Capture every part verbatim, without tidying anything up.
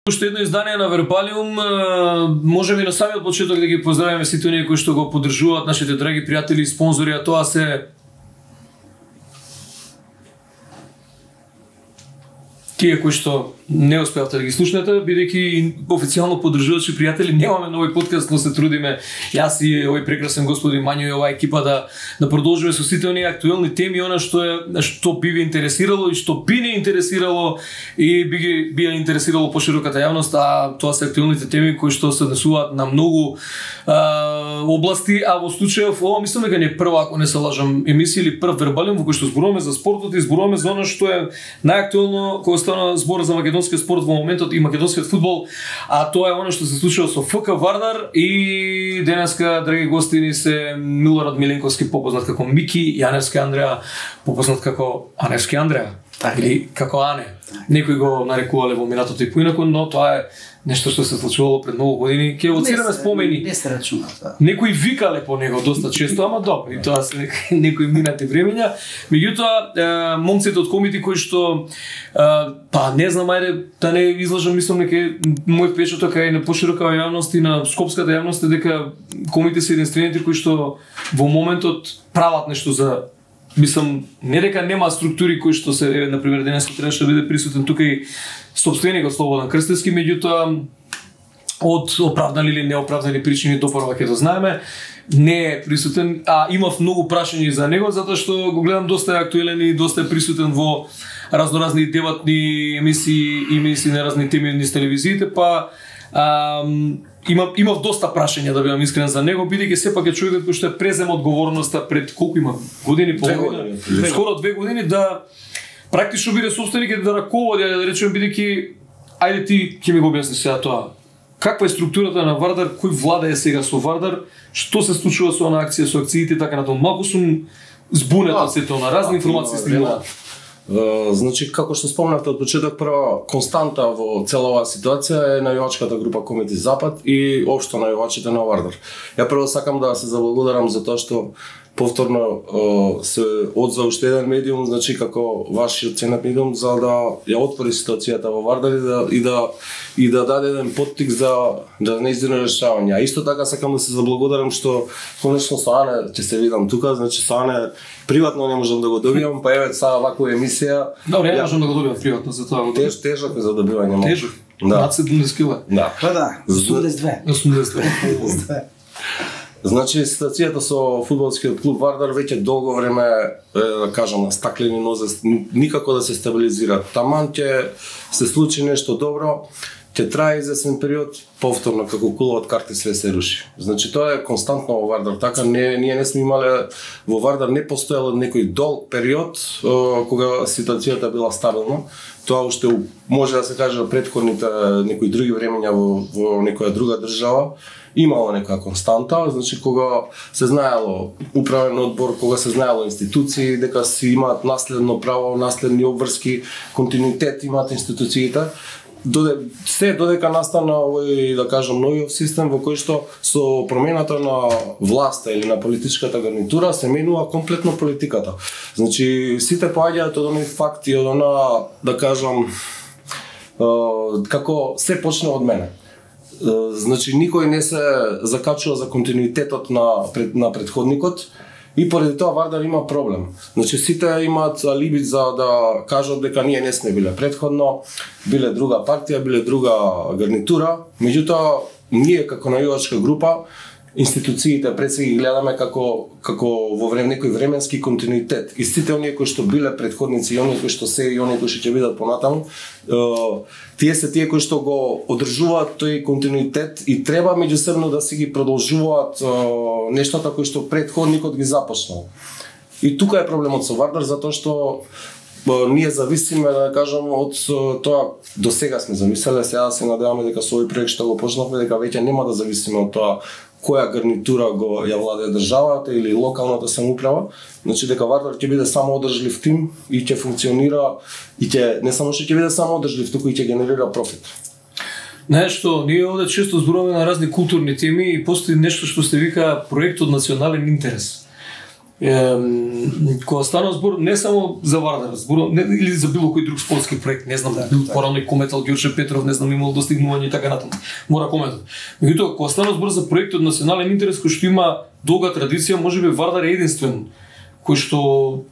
Уште едно издание на Вербалиум, можеби на самиот почеток да ги поздравиме сите оние кои што го поддржуваат, нашите драги пријатели и спонзори, а тоа се тие кои што не успеавте да ги слушнете, бидејќи официјално поддржувачи пријатели немаме нови подкаст, но се трудиме јас и овој прекрасен господин Мањо и оваа екипа да да продолжиме со сите оние актуелни теми, она што е што би ви интересирало и што би не интересирало и би ги би ја интересирало пошироката јавност, а тоа се актуелните теми кои што се однесуваат на многу а, области, а во случајов ова мислам дека не е прва, ако не се лажам, емисија или прв Вербалиум во кој што зборуваме за спортот и зборуваме за она што е најактуелно кога стана збор за македонскиот спорт во моментот и македонскиот фудбал, а тоа е она што се случува со ФК Вардар. И денеска, драги гостини, се Милорад Миленковски, попознат како Мики, и Аневски Андреа, попознат како Аневски Андреа, так, или како Ане. Некои го нарекувале во минатото и поинаку, но тоа е нешто што се случувало пред многу години. Ке оцираме спомени. Не се рачуна тоа. Некои викале по него доста често, ама добро, и тоа се некои минати времења. Меѓутоа, момците од комити кои што па не знам, ајде да не излажам, мислам дека мој впечаток е на поширока јавност и на скопската јавност е дека комити се единствените кои што во моментот прават нешто за, мислам, не дека нема структури кои што се, на пример, денес требаше да биде присутен тука и собственикот Слободан Крстевски, меѓутоа од оправдани или неоправдани причини допорва ќе да знаеме, не е присутен, а имав многу прашања за него затоа што го гледам доста актуелен и доста е присутен во разноразни дебатни емисии, емисии на разни теми низ телевизиите, па ам, Имав, имав доста прашања, да бидам искрен, за него, бидејќи сепак е човекот кој што е презем одговорноста пред колку има години, по години, скоро две години, да практично биде собственик и да раководи, да речеме, бидејќи ајде ти ќе ми го објасниш сега тоа. Каква е структурата на Вардар, кој влада е сега со Вардар, што се случува со она акција, со акциите, така натаму. Малку сум збунет од сето на разни информации стигнуваат. Uh, значи, како што спомнавте од почеток, прва константа во цела оваа ситуација е најувачката група Комити Запад и општо најувачите на Вардар. Ја прво сакам да се заблагодарам за тоа што повторно uh, се одзва уште еден медиум, значи како вашиот ценет медиум, за да ја отвори ситуацијата во Вардар и да и да и да даде еден поттик за да неиздирно решавање. А исто така сакам да се заблагодарам што конечно со Ане ќе се видам тука, значи со Ане приватно не можам да го добијам, па еве сега ваква емисија. Добре, ја можам да го добијам приватно, за тоа. Теж тежок е за добивање. Тежок. Да. Над седумдесет кила. Да. Па да, осумдесет и две. Значи, ситуацијата со фудбалскиот клуб Вардар веќе долго време, да кажам, на стаклени нозе, никако да се стабилизира. Таман ќе се случи нешто добро, ќе трае известен период, повторно како кула од карти све се руши. Значи тоа е константно во Вардар, така не ние не сме имале во Вардар, не постоело некој долг период кога ситуацијата била стабилна. Тоа уште може да се каже претходните некои други времења во, во некоја друга држава имало некоја константа, значи кога се знаело управен одбор, кога се знаело институции дека си имаат наследно право, наследни обврски, континуитет имаат институциите. Доде, се додека настана овој, да кажам, новиот систем во кој што со промената на власта или на политичката гарнитура се менува комплетно политиката. Значи сите поаѓаат од оние факти, од она, да кажам, како се почна од мене. Значи никој не се закачува за континуитетот на пред, на претходникот. И поради тоа Вардар има проблем. Значи сите имаат алиби за да кажат дека ние не сме биле претходно, биле друга партија, биле друга гарнитура, меѓутоа ние како најувачка група институциите пред се ги гледаме како како во време некој временски континуитет. И сите оние кои што биле претходници и оние кои што се и оние кои што ќе бидат понатаму, тие се тие кои што го одржуваат тој континуитет и треба меѓусебно да си ги продолжуваат нештата кои што претходникот ги започнал. И тука е проблемот со Вардар, затоа што ние зависиме, да кажам, од тоа, до сега сме замислеле, сега се надеваме дека со овој проект што го почнавме, дека веќе нема да зависиме од тоа која гарнитура го ја владее државата или локалната самоуправа, значи дека Вардар ќе биде само одржлив тим и ќе функционира и ќе не само што ќе биде само одржлив, туку и ќе генерира профит. Нешто, ние овде често зборуваме на разни културни теми и постои нешто што се вика проект од национален интерес. кога стана збор не само за Вардар, збор не, или за било кој друг спортски проект, не знам, бил порано и кометал Ѓорче Петров, не знам, имал достигнување и така натаму. Мора кометал. Меѓутоа, кога стана збор за проект од национален интерес кој што има долга традиција, можеби Вардар е единствен кој што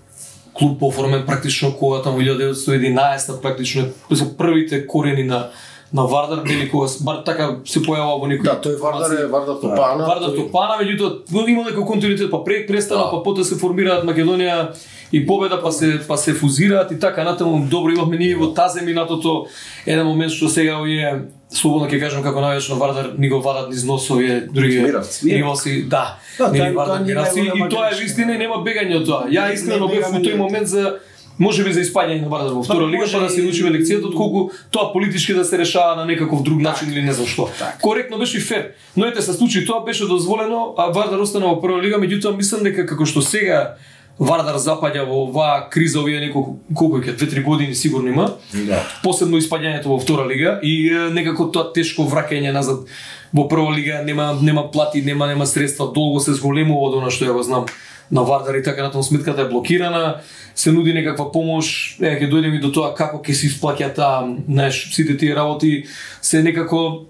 клуб оформен практично кога таму илјада деветстотини и единаесета практично се првите корени на на Вардар, дели кога бар така се појавува во некој. Да, тој Вардар е Вардар Топана. Вардар Топана, меѓутоа има некој континуитет, па пред престана, па потоа се формираат Македонија и Победа, па се па се фузираат и така натаму. Добро, имавме ние во Таземинатото еден момент што сега овие слободно ќе кажам како највечно Вардар ни го вадат низ нос овие други ривалски, да. Нели Вардар Миравци и тоа е вистина и нема бегање од тоа. Ја искрено бев во тој момент за можеби за испаѓање на Вардар во втора лига, па да се научиме лекцијата отколку тоа политички да се решава на некаков друг начин или не знам што. Коректно беше и фер. Но ете се случи тоа беше дозволено, а Вардар остана во прва лига, меѓутоа мислам дека како што сега Вардар запаѓа во оваа криза овие неколку колку ќе две-три години сигурно има. Да. Посебно испаѓањето во втора лига и некако тоа тешко враќање назад во прва лига, нема нема плати, нема нема средства, долго се зголемува од она што ја го знам на Вардар и така натаму, сметката е блокирана, се нуди некаква помош, е, ќе дојдеме до тоа како ќе се исплаќа таа, знаеш, сите тие работи се некако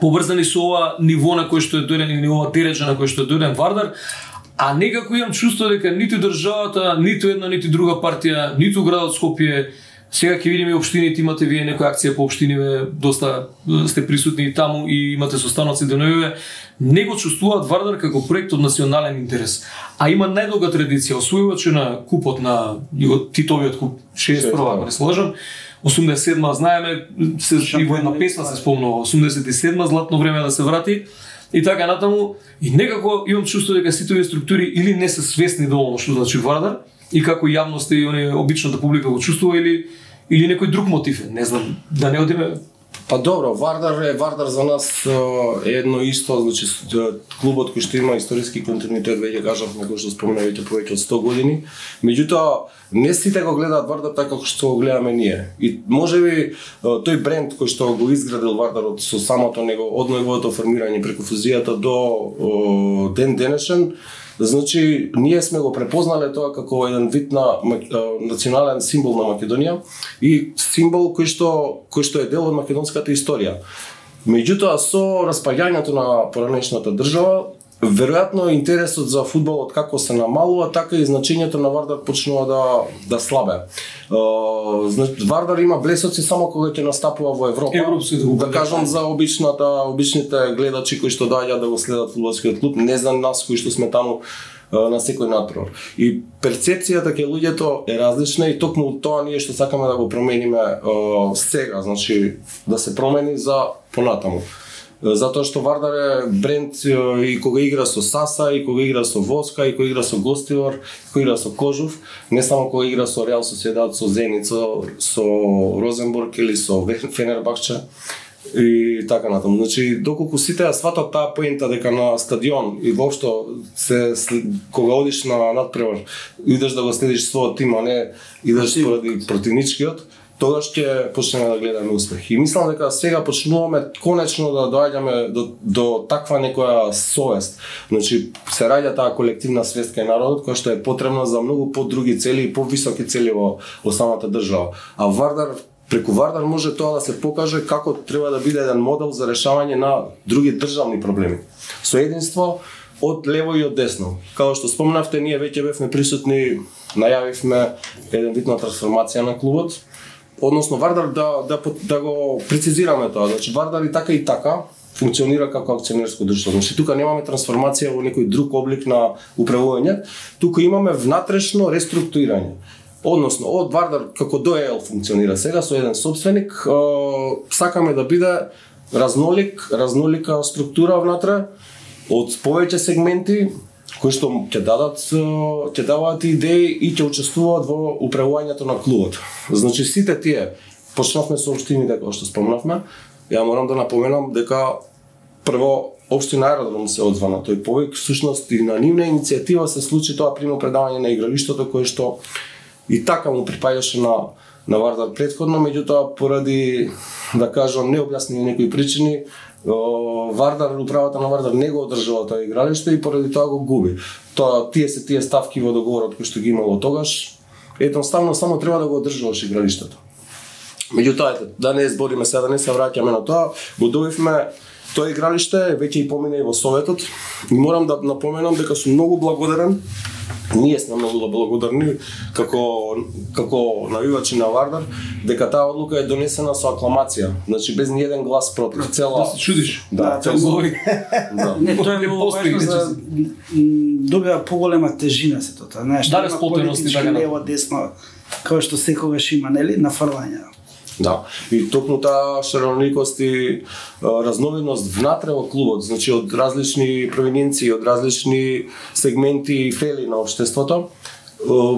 поврзани со ова ниво на кој што е дојден или ова дереџа на кој што е дојден Вардар, а некако имам чувство дека ниту државата, ниту една, ниту друга партија, ниту градот Скопје, сега ќе видиме општините, имате вие некоја акција по општиниве, доста сте присутни таму и имате состаноци деновиве, не го чувствуваат Вардар како проект од национален интерес. А има најдолга традиција, освојувачи на купот на Титовиот куп, шеесет и прва, ако не се лажам, осумдесет и седма, знаеме, се и во една песна се спомнува, осумдесет и седма, златно време да се врати, и така натаму, и некако имам чувство дека сите овие структури или не се свесни доволно што значи Вардар, и како јавноста и они обичната публика го чувствува или или некој друг мотив, не знам, да не одиме. Па добро, Вардар е Вардар за нас е едно исто, значи клубот кој што има историски континуитет, веќе кажавме, кој што споменавте повеќе од сто години. Меѓутоа, не сите го гледаат Вардар така како што го гледаме ние. И можеби тој бренд кој што го изградил Вардар од со самото него од неговото формирање преку фузијата до о, ден денешен, значи ние сме го препознале тоа како еден вид на национален символ на Македонија и символ кој што кој што е дел од македонската историја. Меѓутоа со распаѓањето на поранешната држава, веројатно интересот за фудбалот како се намалува, така и значењето на Вардар почнува да да слабе. Значи Вардар има блесоци само кога ќе настапува во Европа. Европски, да, да кажам за обичната обичните гледачи кои што доаѓаат да го следат фудбалскиот клуб, не за нас кои што сме таму на секој надпревар. И перцепцијата кај луѓето е различна и токму тоа ние што сакаме да го промениме сега, значи да се промени за понатаму. Затоа што Вардар е бренд и кога игра со Саса, и кога игра со Воска, и кога игра со Гостивар, и кога игра со Кожув, не само кога игра со Реал Соседат, со Зенит, со, со Розенбург или со Фенербахче и така натаму. Значи, доколку сите ја сватат таа поента дека на стадион и воопшто се кога одиш на надпревар, идеш да го следиш својот тим, а не идеш поради противничкиот, тогаш ќе почнеме да гледаме успех. И мислам дека сега почнуваме конечно да доаѓаме до, до таква некоја совест. Значи, се раѓа таа колективна свест кај народот, која што е потребна за многу подруги цели и повисоки цели во, во самата држава. А Вардар, преку Вардар може тоа да се покаже како треба да биде еден модел за решавање на други државни проблеми. Со единство од лево и од десно. Како што спомнавте, ние веќе бевме присутни, најавивме еден вид на трансформација на клубот. Односно Вардар да, да, да го прецизираме тоа. Значи Вардар и така и така функционира како акционерско друштво. Значи тука немаме трансформација во некој друг облик на управување, тука имаме внатрешно реструктурирање. Односно од Вардар како ДОЕЛ функционира сега со еден собственик, сакаме да биде разнолик, разнолика структура внатре од повеќе сегменти кои што ќе дадат ќе даваат идеи и ќе учествуваат во управувањето на клубот. Значи сите тие почнавме со општините како што спомнавме. Ја морам да напоменам дека прво општина Аеродром се одзва на тој повик, всушност и на нивна иницијатива се случи тоа примо предавање на игралиштето кое што и така му припаѓаше на на Вардар претходно, меѓутоа поради, да кажам, необјаснени некои причини, Вардар, управата на Вардар не го одржува тоа игралиште и поради тоа го губи. Тоа тие се тие ставки во договорот кои што ги имало тогаш, едноставно само треба да го одржуваш игралиштето. Меѓутоа, ете, да не збориме сега, да не се враќаме на тоа, го добивме тоа игралиште, веќе и помина и во Советот. И морам да напоменам дека сум многу благодарен. Ние сме многу благодарни како како навивачи на Вардар дека таа одлука е донесена со акламација, значи без ни еден глас против. Цела. Да се чудиш. Да, тоа цела. Да. Не, тоа е многу важно за добива поголема тежина се тоа, знаеш, да, има политички лево десно, како што секогаш има, нели, нафрлање. Да, и токму таа шароликост и разновидност внатре во клубот, значи од различни провиненции, од различни сегменти и фели на општеството,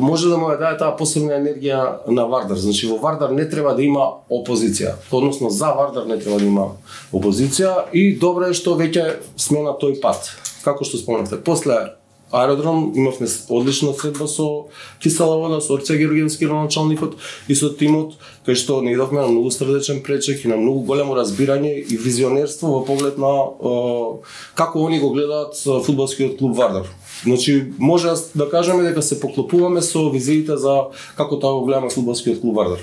може да му ја даде таа посебна енергија на Вардар. Значи во Вардар не треба да има опозиција, односно за Вардар не треба да има опозиција и добро е што веќе сме на тој пат. Како што спомнавте, после аеродром имавме одлична средба со Кисела вода, со Орце Георгиевски началникот и со тимот, кај што не идовме на многу срдечен пречек и на многу големо разбирање и визионерство во поглед на е, како они го гледаат фудбалскиот клуб Вардар. Значи, може да кажеме дека се поклопуваме со визиите за како тоа го гледаме фудбалскиот клуб Вардар.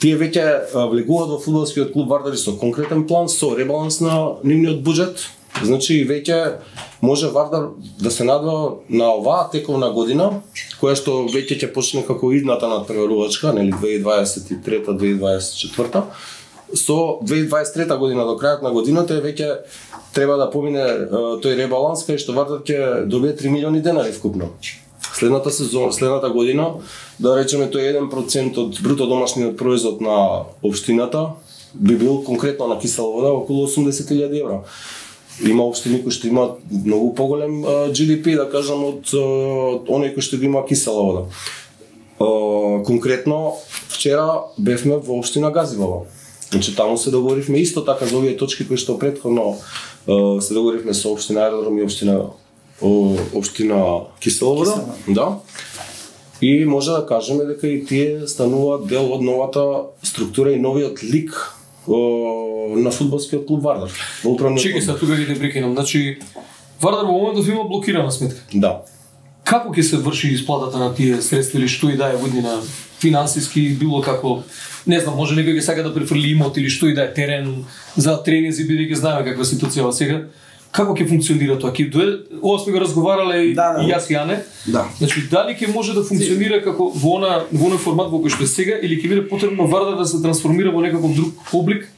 Тие веќе влегуваат во фудбалскиот клуб Вардар и со конкретен план, со ребаланс на нивниот буџет. Значи, веќе може Вардар да се надва на оваа тековна година, која што веќе ќе почне како идната надпреварувачка, нели две илјади дваесет и трета - две илјади дваесет и четврта. Со две илјади дваесет и трета година до крајот на годината веќе треба да помине тој ребаланс кај што Вардар ќе добие три милиони денари вкупно. Следната сезона, следната година, да речеме тој еден процент од бруто домашниот производ на општината би бил конкретно на Кисела вода околу осумдесет илјади евра. Има општини кои што имаат многу поголем Джи Ди Пи, да кажам, од оној кој што ги има Кисела вода. Конкретно, вчера бевме во општина Газивала. Значи, таму се договоривме исто така за овие точки кои што претходно се договоривме со општина Аеродром и општина општина Кисела вода. Да. И може да кажеме дека и тие стануваат дел од новата структура и новиот лик на фудбалскиот клуб Вардар. Чекај се, тука ги те прекинам. Значи, Вардар во моментов има блокирана сметка. Да. Како ќе се врши исплатата на тие средства или што и да е воднина финансиски, било како, не знам, може некој ќе сака да префрли имот или што и да е терен за тренинзи, бидејќи знаеме каква ситуација сега. Како ќе функционира тоа? Ќе дое, ова сме го разговарале и, да, да, и јас и Ане. Да. Значи, дали ќе може да функционира како во она во оној формат во кој што е сега или ќе биде потребно Вардар да се трансформира во некаков друг облик?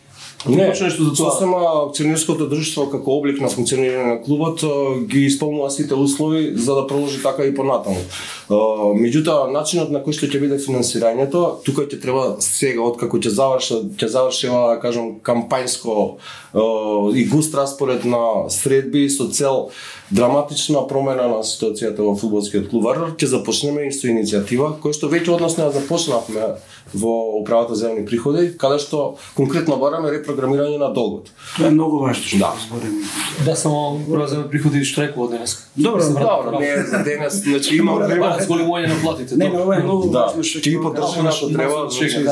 Не, нешто за тоа. Сосема акционерското друштво како облик на функционирање на клубот ги исполнува сите услови за да продолжи така и понатаму. Меѓутоа, начинот на кој што ќе биде финансирањето, тука ќе треба сега откако ќе заврши, ќе заврши, да кажам, кампањско и густ распоред на средби со цел драматична промена на ситуацијата во фудбалскиот клуб Вардар, ќе започнеме и со иницијатива која што веќе односно ја започнавме во управата за јавни приходи, каде што конкретно бараме репрограмирање на долгот. Тоа е многу важно што да збориме. Да, само управа за јавни приходи штрајкува денес. Добро, добро, не за денес, значи има време зголемување на платите. Не, ова е многу важно што ќе ги поддржиме што треба,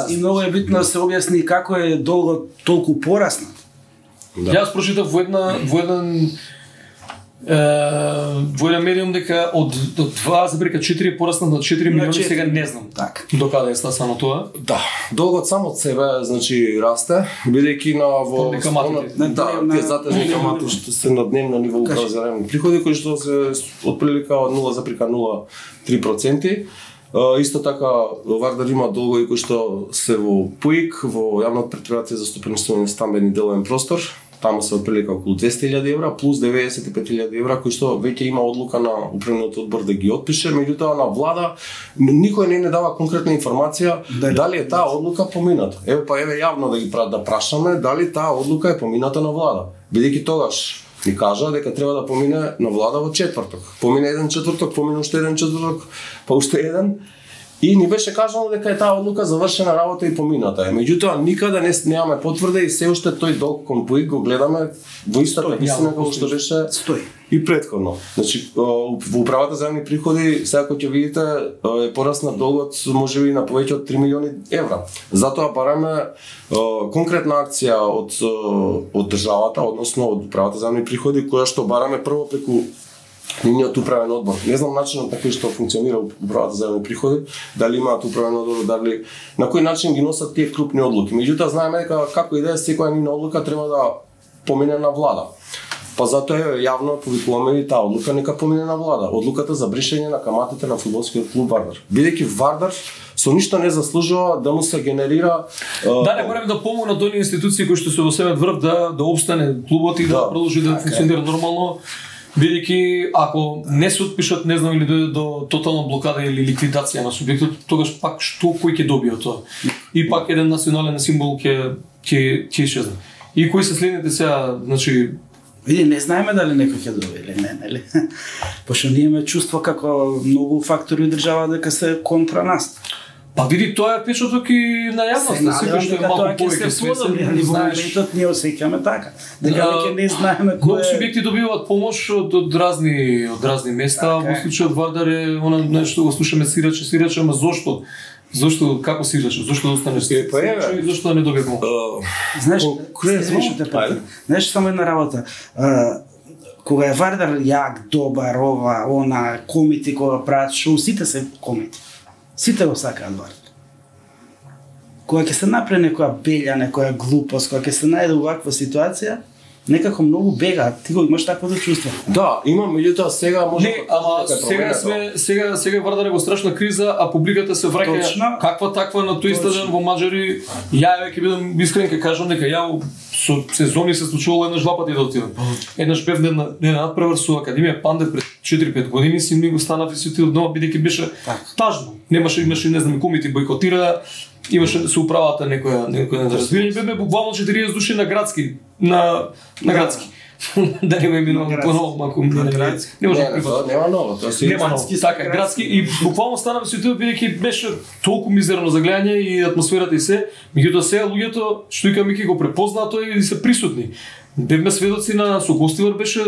и многу е битно да се објасни како е долгот толку пораснат. Јас прочитав во една во еден во еден медиум дека од два запирка четири пораснат на четири милиони, сега не знам. Така. Докаде е стасано тоа? Да, долгот само од себе, значи расте, бидејќи на во да, тие затежни камати што се на дневно ниво управа за јавни приходи кои што се отприлика од нула запирка нула три проценти. Исто така Вардар има долгови кои што се во ПУИК, во јавната претпријатие за стопанисување на стамбен и деловен простор. Таму се отприлика околу двесте илјади евра плюс деветдесет и пет илјади евра кои што веќе има одлука на управниот одбор да ги отпише, меѓутоа на влада никој не не дава конкретна информација дали, дали е таа одлука помината. Еве па еве јавно да ги да прашаме дали таа одлука е помината на влада. Бидејќи тогаш ни кажа дека треба да помине на влада во четврток. Помине еден четврток, помине уште еден четврток, па уште еден. И ни беше кажано дека е таа одлука завршена работа и помината е. Меѓутоа никаде не немаме потврда и се уште тој долг кон Пуик го гледаме во истата висина како што беше стои и претходно. Значи во управата за земјни приходи сега кога ќе видите е порасна долгот можеби на повеќе од три милиони евра. Затоа бараме конкретна акција од од државата, односно од управата за земјни приходи, која што бараме прво преку нивниот управен одбор. Не знам начинот на кој што функционира управата за земјни приходи, дали имаат управен одбор, дали на кој начин ги носат тие крупни одлуки. Меѓутоа знаеме дека како и да е секоја нивна одлука треба да помине на влада. Па затоа јавно повикуваме и таа одлука нека помине на влада. Одлуката за бришење на каматите на фудбалскиот клуб Вардар. Бидејќи Вардар со ништо не заслужува да му се генерира Да, не мораме да помогнат оние институции кои што се во себе врв да да опстане клубот и да, да продолжи да функционира нормално. Бидејќи ако не се отпишат, не знам или дојде до тотална блокада или ликвидација на субјектот, тогаш пак што кој ќе добие од тоа? И пак еден национален символ ќе ќе ќе исчезне. И кои се следните сега, значи види, не знаеме дали некој ќе добие или не, нели? Пошто ние имаме чувство како многу фактори од држава дека се контра нас. Па види, тоа е печаток и на јавноста, секој што е малку повеќе свесен, али во моментот ние осеќаме така. Дека веќе не знаеме кој многу субјекти добиваат помош од, од разни од разни места. Во случајот Вардар е она нешто го слушаме сираче, сираче, ама зошто? Зошто како сираче? Зошто да останеш сираче и зошто да не добие помош? Знаеш, знаеш само една работа. Кога е Вардар јак, добар, ова, она, комити кога прават шоу, сите се комити. Сите го сакаат Вардар. Кога ќе се направи некоја белја, некоја глупост, кога ќе се најде оваква ситуација, некако многу бегаат. Ти го имаш такво чувство. Да, имам, меѓутоа сега може не, ама сега сме сега сега Вардар е во страшна криза, а публиката се враќа каква таква на тој стадион во Маџари. Ја ќе бидам искрен ќе кажам дека ја со сезони се случувало еднаш два пати да отидам. Еднаш бев на на надпревар со Академија Пандев пред четири-пет години, си ми го станав и се отидов дома бидејќи беше тажно. Немаше имаше не знам комити бойкотира, имаше се управата некоја некоја неразбирање, бебе буквално четириесет души на градски на на градски. Да не го именувам поново, ако не не може да прифатам. Нема ново, тоа се нема ново. Така, градски и буквално станав се отидов бидејќи беше толку мизерно за гледање и атмосферата и се, меѓутоа сега луѓето што и Мики го препознаа тоа и се присутни. Бевме сведоци на со Гостивар беше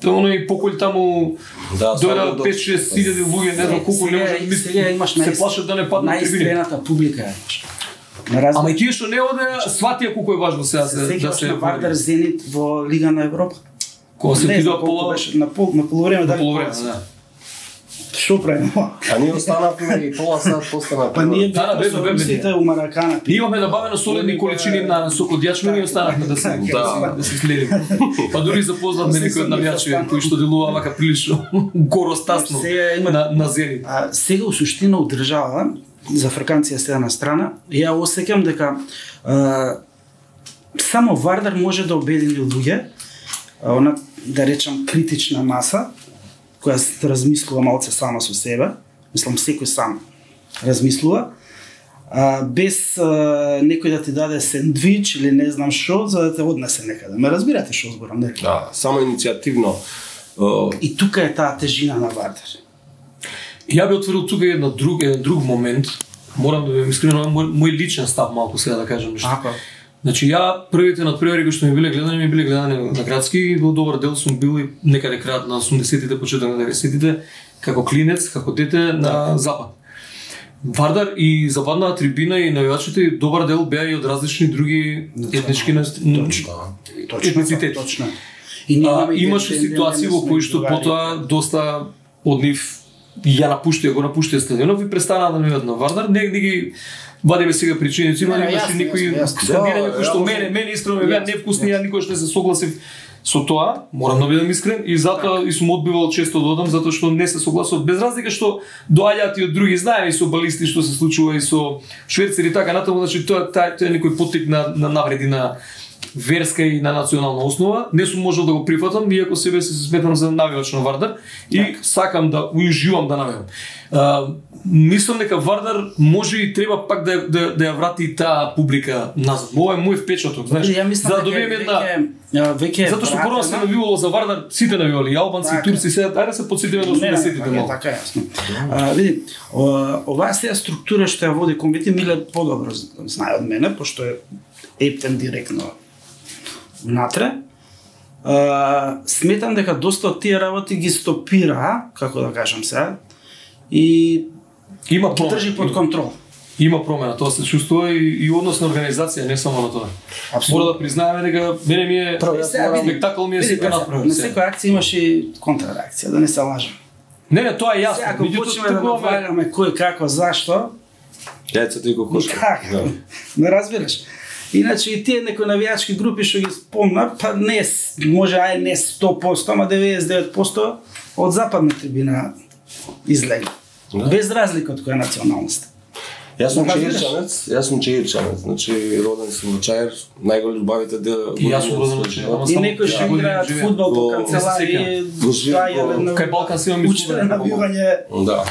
оној покој таму да, дојда пет-шест илјади луѓе, не знам колку не може да мисли, се плашат да не паднат трибини. Најстрената публика е. Ама и тие што не оде, сватија колку е важно сега се да се на Вардар Зенит во Лига на Европа. Кога се отидоа пола на пол на полувреме да. Полувреме, да. Што правиме? А ние останавме и пола сат постана. Па ние да, бе, бе, сите у Маракана. Имаме набавено солидни количини на сокот јачмени и останавме да се да се следиме. Па дури запознавме некои од навијачи кои што делува вака прилично горостасно на на Зенит. А сега у суштина у држава за фраканција сега на страна, ја осеќам дека а, само Вардар може да обедини луѓе, она да речам критична маса, која се размислува малце сама со себе, мислам секој сам размислува, а, без а, некој да ти даде сендвич или не знам што, за да те однесе некаде. Ме разбирате што зборам, нели? Да, само иницијативно. И тука е таа тежина на Вардар. Ја би отворил тука една друг еден друг момент. Морам да ви искрено мој, мој личен став малку сега да кажам нешто. Ако Значи ја првите надпревари кои што ми биле гледани, ми биле гледани на градски и во добар дел сум бил и некаде крајот на осумдесетите, почеток на деветдесетите, како клинец, како дете на запад. Вардар и западната трибина и навијачите добар дел беа и од различни други етнички етницитети. Точно. И имаше ситуации во кои што потоа доста од нив ја напуштија, го напуштија стадионот и престанаа да навијат на Вардар. Не, не ги вадиме сега причиници, има имаше некои скандирања кои што мене, мене искрено ми беа невкусни, ја никогаш не се согласив со тоа, морам да бидам искрен, и затоа и сум одбивал често да одам, затоа што не се согласував, без разлика што доаѓаат и од други, знаеме и со балисти што се случува и со шверцери и така натаму, значи тоа тоа е некој поттик на на навреди на верска и на национална основа, не сум можел да го прифатам, иако себе се сметам за навивач на Вардар и так. Сакам да уиживам да навивам. А, мислам дека Вардар може и треба пак да да, да ја врати таа публика назад. Ова е мој впечаток, знаеш. За да добиеме една веќе затоа што прво се навивало за Вардар, сите навивали, албанци, така. Турци, се ајде да се потсетиме на осумдесетите малку. Така е, јасно. А, види, оваа сега структура што ја води комбити Миле подобро знае од мене, пошто е ептен директно внатре. А, сметам дека доста од тие работи ги стопира, како да кажам сега, и има ги држи под контрол. Има промена, тоа се чувствува и, и однос на организација, не само на тоа. Мора да признаеме дека мене ми е спектакл ми е се направен. На секоја акција имаш и контрареакција, да не се лажам. Не, не, тоа е јасно. Ако почнеме да наваляме кој како зашто, јајцето и кокошка. Така, не разбираш. Иначе и тие некои навијачки групи што ги спомна, па не, може ај не сто проценти, ама деветдесет и девет проценти од западна трибина излегли. Да. Без разлика од која националност. Јас сум чаирчанец, јас сум чаирчанец, значи роден сум во Чаир, најголем љубавите да и јас сум роден во Чаир. И некои што играат фудбал по канцеларии, кај Балкан се имаме учеле навивање. Да.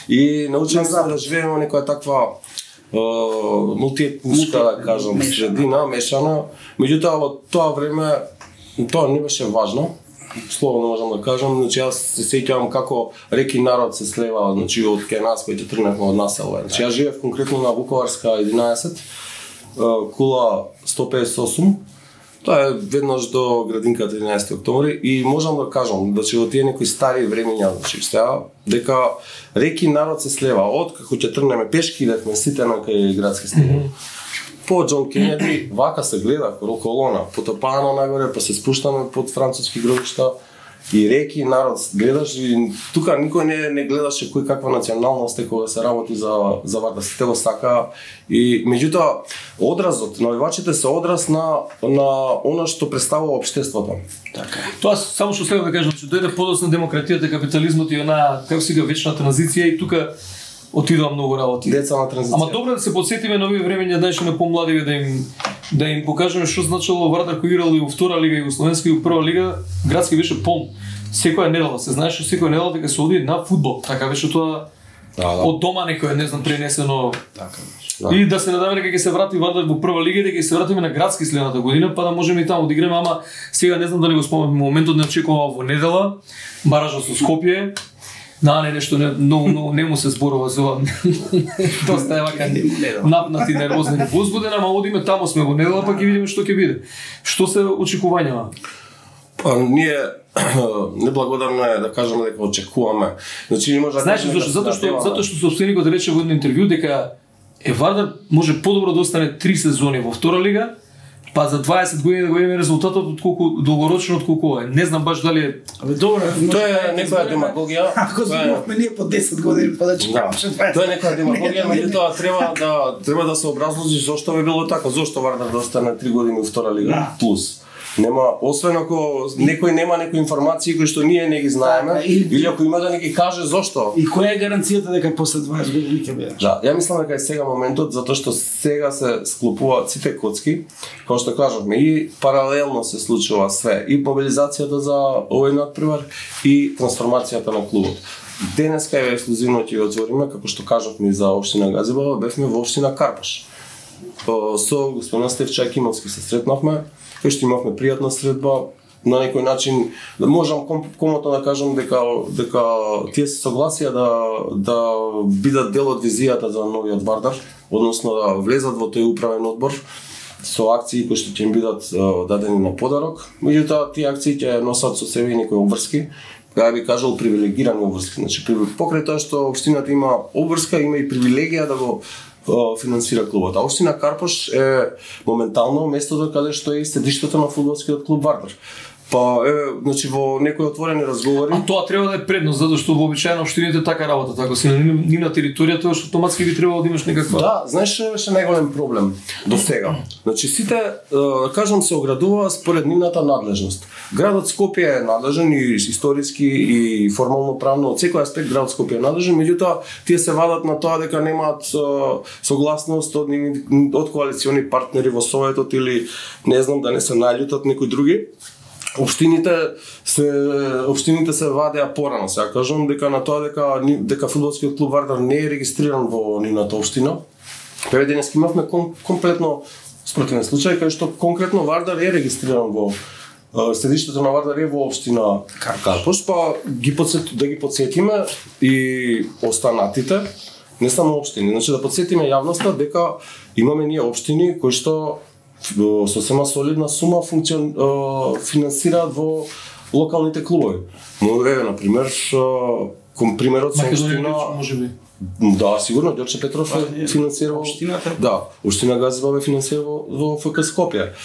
И научивме се да живееме во некоја таква мултиетничка, да кажам, средина, мешана. Меѓутоа во тоа време тоа не беше важно. Слободно можам да кажам, значи јас се сеќавам како реки народ се слева, значи од кај нас кои ќе тргневме од населба. Значи јас живеев конкретно на Вуковарска единаесет, кула сто педесет и осум. Тоа е веднаш до градинката единаесети октомври и можам да кажам да че во тие некои стари времења, значи сега дека реки народ се слева од како ќе тргнеме пешки идевме сите на кај градски стадион. Mm -hmm. По Џон Кенеди вака се гледа колона, потопаано нагоре, па се спуштаме под француски гробишта и реки народ гледаш и тука никој не не гледаше кој каква националност е кога се работи за за Вардар, сите го сака и меѓутоа одразот навивачите се одраз на на она што представува општеството. Така. Тоа само што следва да кажам, че дојде подосна демократијата, капитализмот и она како сега вечна транзиција и тука отидоа многу работи. Деца на транзиција. Ама добро да се потсетиме на овие времења, знаеш, на помладиве да им да им покажеме што значело Вардар кој играл и во втора лига и во словенска и во прва лига, градски беше полн. Секоја недела се знаеше секоја недела дека се оди на фудбал. Така беше тоа. Да, да. Од дома некој не знам пренесено. Така. Да. И да се надеваме дека ќе се врати Вардар во прва лига и дека ќе се вратиме на градски следната година, па да можеме и таму да играме, ама сега не знам дали го спомнам, моментот не очекував во недела, баражот со Скопје. Да, не, нешто не, многу, многу не му се зборува за ова. Доста е вака напнати, нервозен и возбуден, ама одиме таму сме во недела, па ќе видиме што ќе биде. Што се очекувањава? Па ние неблагодарно е да кажеме дека очекуваме. Значи не може да знаеш зашто? Затоа што затоа што сопственикот рече во едно интервју дека е Вардар може подобро да остане три сезони во втора лига, па за дваесет години да го имаме резултатот од колку долгорочно од колку е. Не знам баш дали е. Абе добро, тоа е некоја демагогија. Ако зборуваме ние по десет години, па да чекаме дваесет. Тоа е некоја демагогија, меѓутоа треба да треба да се образложи зошто би било така, зошто Вардар да остане три години во втора лига плюс. Нема, освен ако некој нема некои информации кои што ние не ги знаеме, да, или, или ако има да не ги каже зошто. И која е гаранцијата дека после дваесет години ќе биде? Да, ја мислам дека е сега моментот затоа што сега се склопуваат сите коцки, како што кажавме, и паралелно се случува све, и мобилизацијата за овој надпревар и трансформацијата на клубот. Денеска е ексклузивно ќе го отвориме, како што кажавме за општина Газибала, бевме во општина Карпаш. Со господин Стефчак Имовски се сретнавме. Кој што имавме пријатна средба, на некој начин да можам ком, комотно да кажам дека дека тие се согласија да да бидат дел од визијата за новиот Вардар, односно да влезат во тој управен одбор со акции кои што ќе им бидат дадени на подарок. Меѓутоа тие акции ќе носат со себе и некои обврски, ја би кажал привилегирани обврски. Значи покрај тоа што општината има обврска, има и привилегија да го финансира клубот. А општина Карпаш е моментално местото каде што е седиштето на фудбалскиот клуб Вардар. Па, е, значи во некои отворени разговори. А тоа треба да е предност, затоа што вообичаено општините така работат. Ако си на нивна територија, тоа што автоматски би требало да имаш некаква. Да, знаеш што беше најголем проблем до сега. Значи сите, да кажам, се оградуваа според нивната надлежност. Градот Скопје е надлежен и историски и формално правно од секој аспект градот Скопје е надлежен, меѓутоа тие се вадат на тоа дека немаат согласност од од коалициони партнери во советот или не знам да не се наљутат некои други. Општините се општините се вадеа порано, сега кажам дека на тоа дека дека фудбалскиот клуб Вардар не е регистриран во нивната општина. Пред денес имавме ком, комплетно спротивен случај кај што конкретно Вардар е регистриран во седиштето на Вардар е во општина Карпош, па ги подсет, да ги подсетиме и останатите, не само општини, значи да подсетиме јавноста дека имаме ние општини кои што сосема солидна сума функцион финансираат во локалните клубови. Еве на пример, кон примерот со општина, можеби. Да, сигурно Ѓорче Петров е финансирал општината. Да, општина Газево е финансирал во ФК Скопје.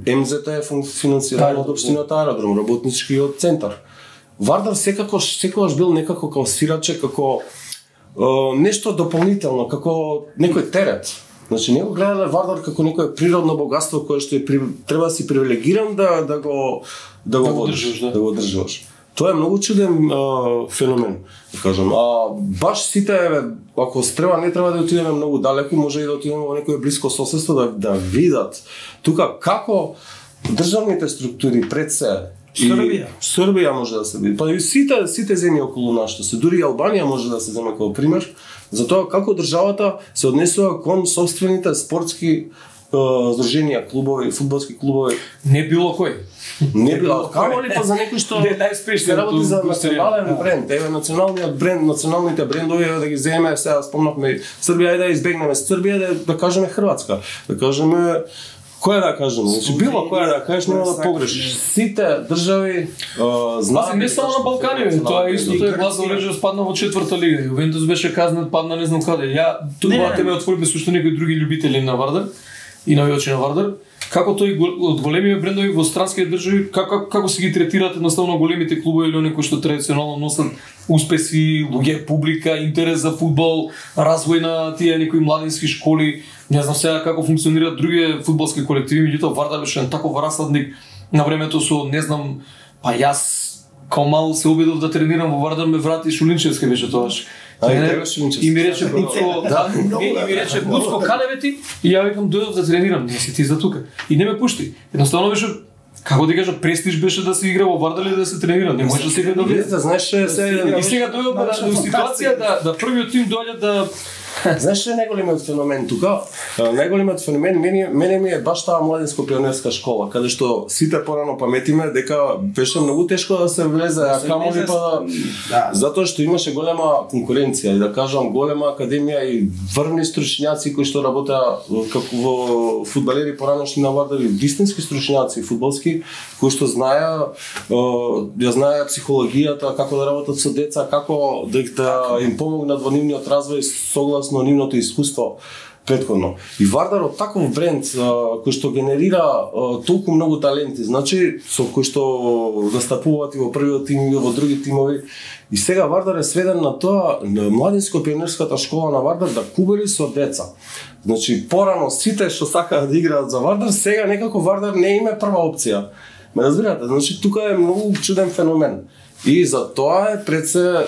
Ем Зет Т е финансирано од општината Аеродром, работничкиот центар. Вардар секогаш секогаш бил некако како свираче, како нешто дополнително, како некој терет. Значи не го гледале Вардар како некое природно богатство кое што е при... треба да си привилегиран да да го да го водиш, да. да го одржуваш. Тоа е многу чуден а, феномен, да кажам. А баш сите, ако треба, не треба да отидеме многу далеку, може и да отидеме во некое блиско соседство да да видат тука како државните структури пред се Србија. Србија може да се види. Па и сите сите земји околу нас, што се дури и Албанија може да се земе како пример за тоа како државата се однесува кон собствените спортски здруженија, клубови, фудбалски клубови. Не било кој. Не било, камо ли па за некој што не најспешни работи за национален бренд, еве националниот бренд, националните брендови еве да ги земеме, сега спомнавме Србија, да избегнеме Србија, да, да кажеме Хрватска, да кажеме која да кажеме, значи било која да кажеш нема да погрешиш. Сите држави знаат. Не само на Балкани, тоа е истото е Глазгов Рейнџерс падна во четврта лига, Јувентус беше казнат, падна не знам каде. Ја тоа теме отвориме со уште некои други љубители на Вардар и навијачи на Вардар. Како тој од големите брендови во странски држави, како како се ги третираат едноставно големите клубови или оние кои што традиционално носат успеси, луѓе, публика, интерес за фудбал, развој на тие некои младински школи, не знам сега како функционираат други фудбалски колективи, меѓутоа Вардар беше на таков расадник на времето со не знам, па јас као мал се обидов да тренирам во Вардар, ме врати Шулинчевски беше тоаш. А, и ми рече Буцко, да, и ми рече Буцко, каде бе ти? И ја викам дојдов да тренирам, не си ти за тука. И не ме пушти. Едноставно беше, како да кажа, престиж беше да се игра во Вардар или да се тренира, не може да се игра да влезе. Знаеш, и сега дојдов до ситуација да да првиот тим доаѓа да Знаеш што е најголемиот феномен тука? Најголемиот феномен мене, мене ми е баш таа младинско пионерска школа, каде што сите порано паметиме дека беше многу тешко да се влезе, а камоли па да, затоа што имаше голема конкуренција и да кажам голема академија и врвни стручњаци кои што работеа како во фудбалери поранешни на Вардар, вистински стручњаци фудбалски кои што знаеа ја знаеа психологијата, како да работат со деца, како да, да им помогнат во нивниот развој согласно на нивното искуство претходно. И Вардар од таков бренд а, кој што генерира а, толку многу таленти, значи со кои што настапуваат и во првиот тим и во други тимови. И сега Вардар е сведен на тоа, на младинско пионерската школа на Вардар да кубери со деца. Значи порано сите што сакаат да играат за Вардар, сега некако Вардар не име прва опција. Ме разбирате? Значи тука е многу чуден феномен. И за тоа е пред се е,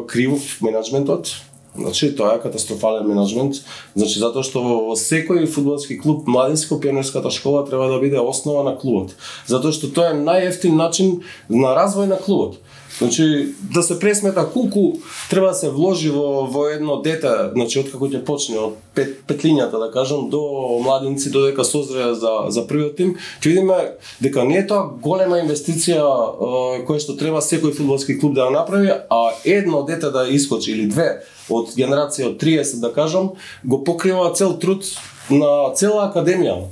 кривов менаџментот. Значи тоа е катастрофален менаџмент. Значи затоа што во секој фудбалски клуб младинско пионерската школа треба да биде основа на клубот. Затоа што тоа е најевтин начин на развој на клубот. Значи да се пресмета колку треба да се вложи во во едно дете, значи откако ќе почне од пет, петлињата да кажам до младинци додека созреа за за првиот тим, ќе видиме дека не е тоа голема инвестиција е, која што треба секој фудбалски клуб да ја направи, а едно дете да искочи или две од генерација од триесет да кажам, го покрива цел труд на цела академија.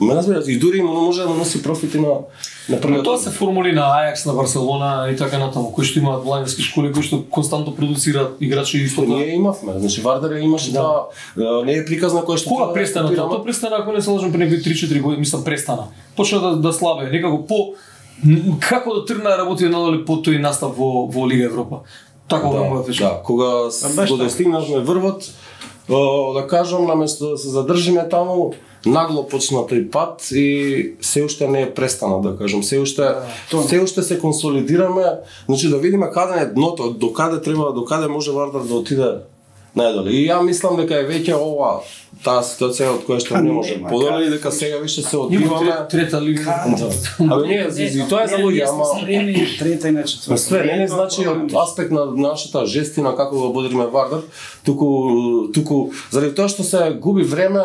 Ме разбираш, и дури може да носи профити на на првиот. Тоа се формули на Ајакс, на Барселона и така натаму, кои што имаат младински школи, кои што константно продуцираат играчи и фото. Ние имавме, значи Вардар имаше да, да не е приказна која што кога престана тоа? Тоа престана, ако не се лажам, пред некои три-четири години, мислам престана. Почна да да слабее, некако по како да тргна да работи надале по тој настап во во Лига Европа. Така да му да, кога го достигнавме врвот, да кажам, наместо да се задржиме таму, нагло почна тој пат и се уште не е престана, да кажам, се уште да, се уште се консолидираме, значи да видиме каде е дното, до каде треба, до каде може Вардар да отиде најдоле. И ја мислам дека е веќе ова таа ситуација од која што не може подоле и дека сега више се одбиваме трета лига. Абе не, и тоа е за луѓе, ама трета и на четврта. Све не значи од аспект на нашата жестина како го бодриме Вардар, туку туку заради тоа што се губи време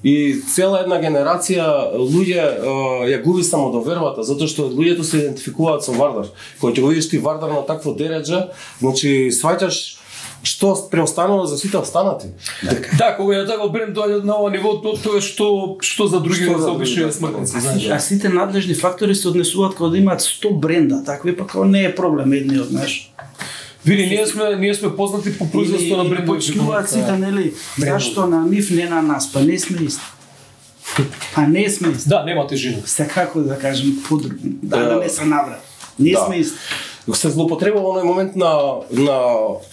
и цела една генерација луѓе ја губи самодовербата, затоа што луѓето се идентификуваат со Вардар. Кога ќе го видиш ти Вардар на такво дередже, значи сваќаш што преостанува за сите останати. Да, кога ја така бренд доаѓа на ова ниво, тоа што што за други се обичаат смртници, знаеш. А сите надлежни фактори се однесуваат кога да имаат сто бренда, такви па како не е проблем едниот, знаеш. Види, ние сме ние сме познати по производство на брендови. Почнуваат сите, нели? Зашто на нив не на нас, па не сме исти. Па не сме исти. Да, нема тежина. Секако да кажем подруг, да да не се наврат. Не сме исти. Се злоупотребува оној момент на на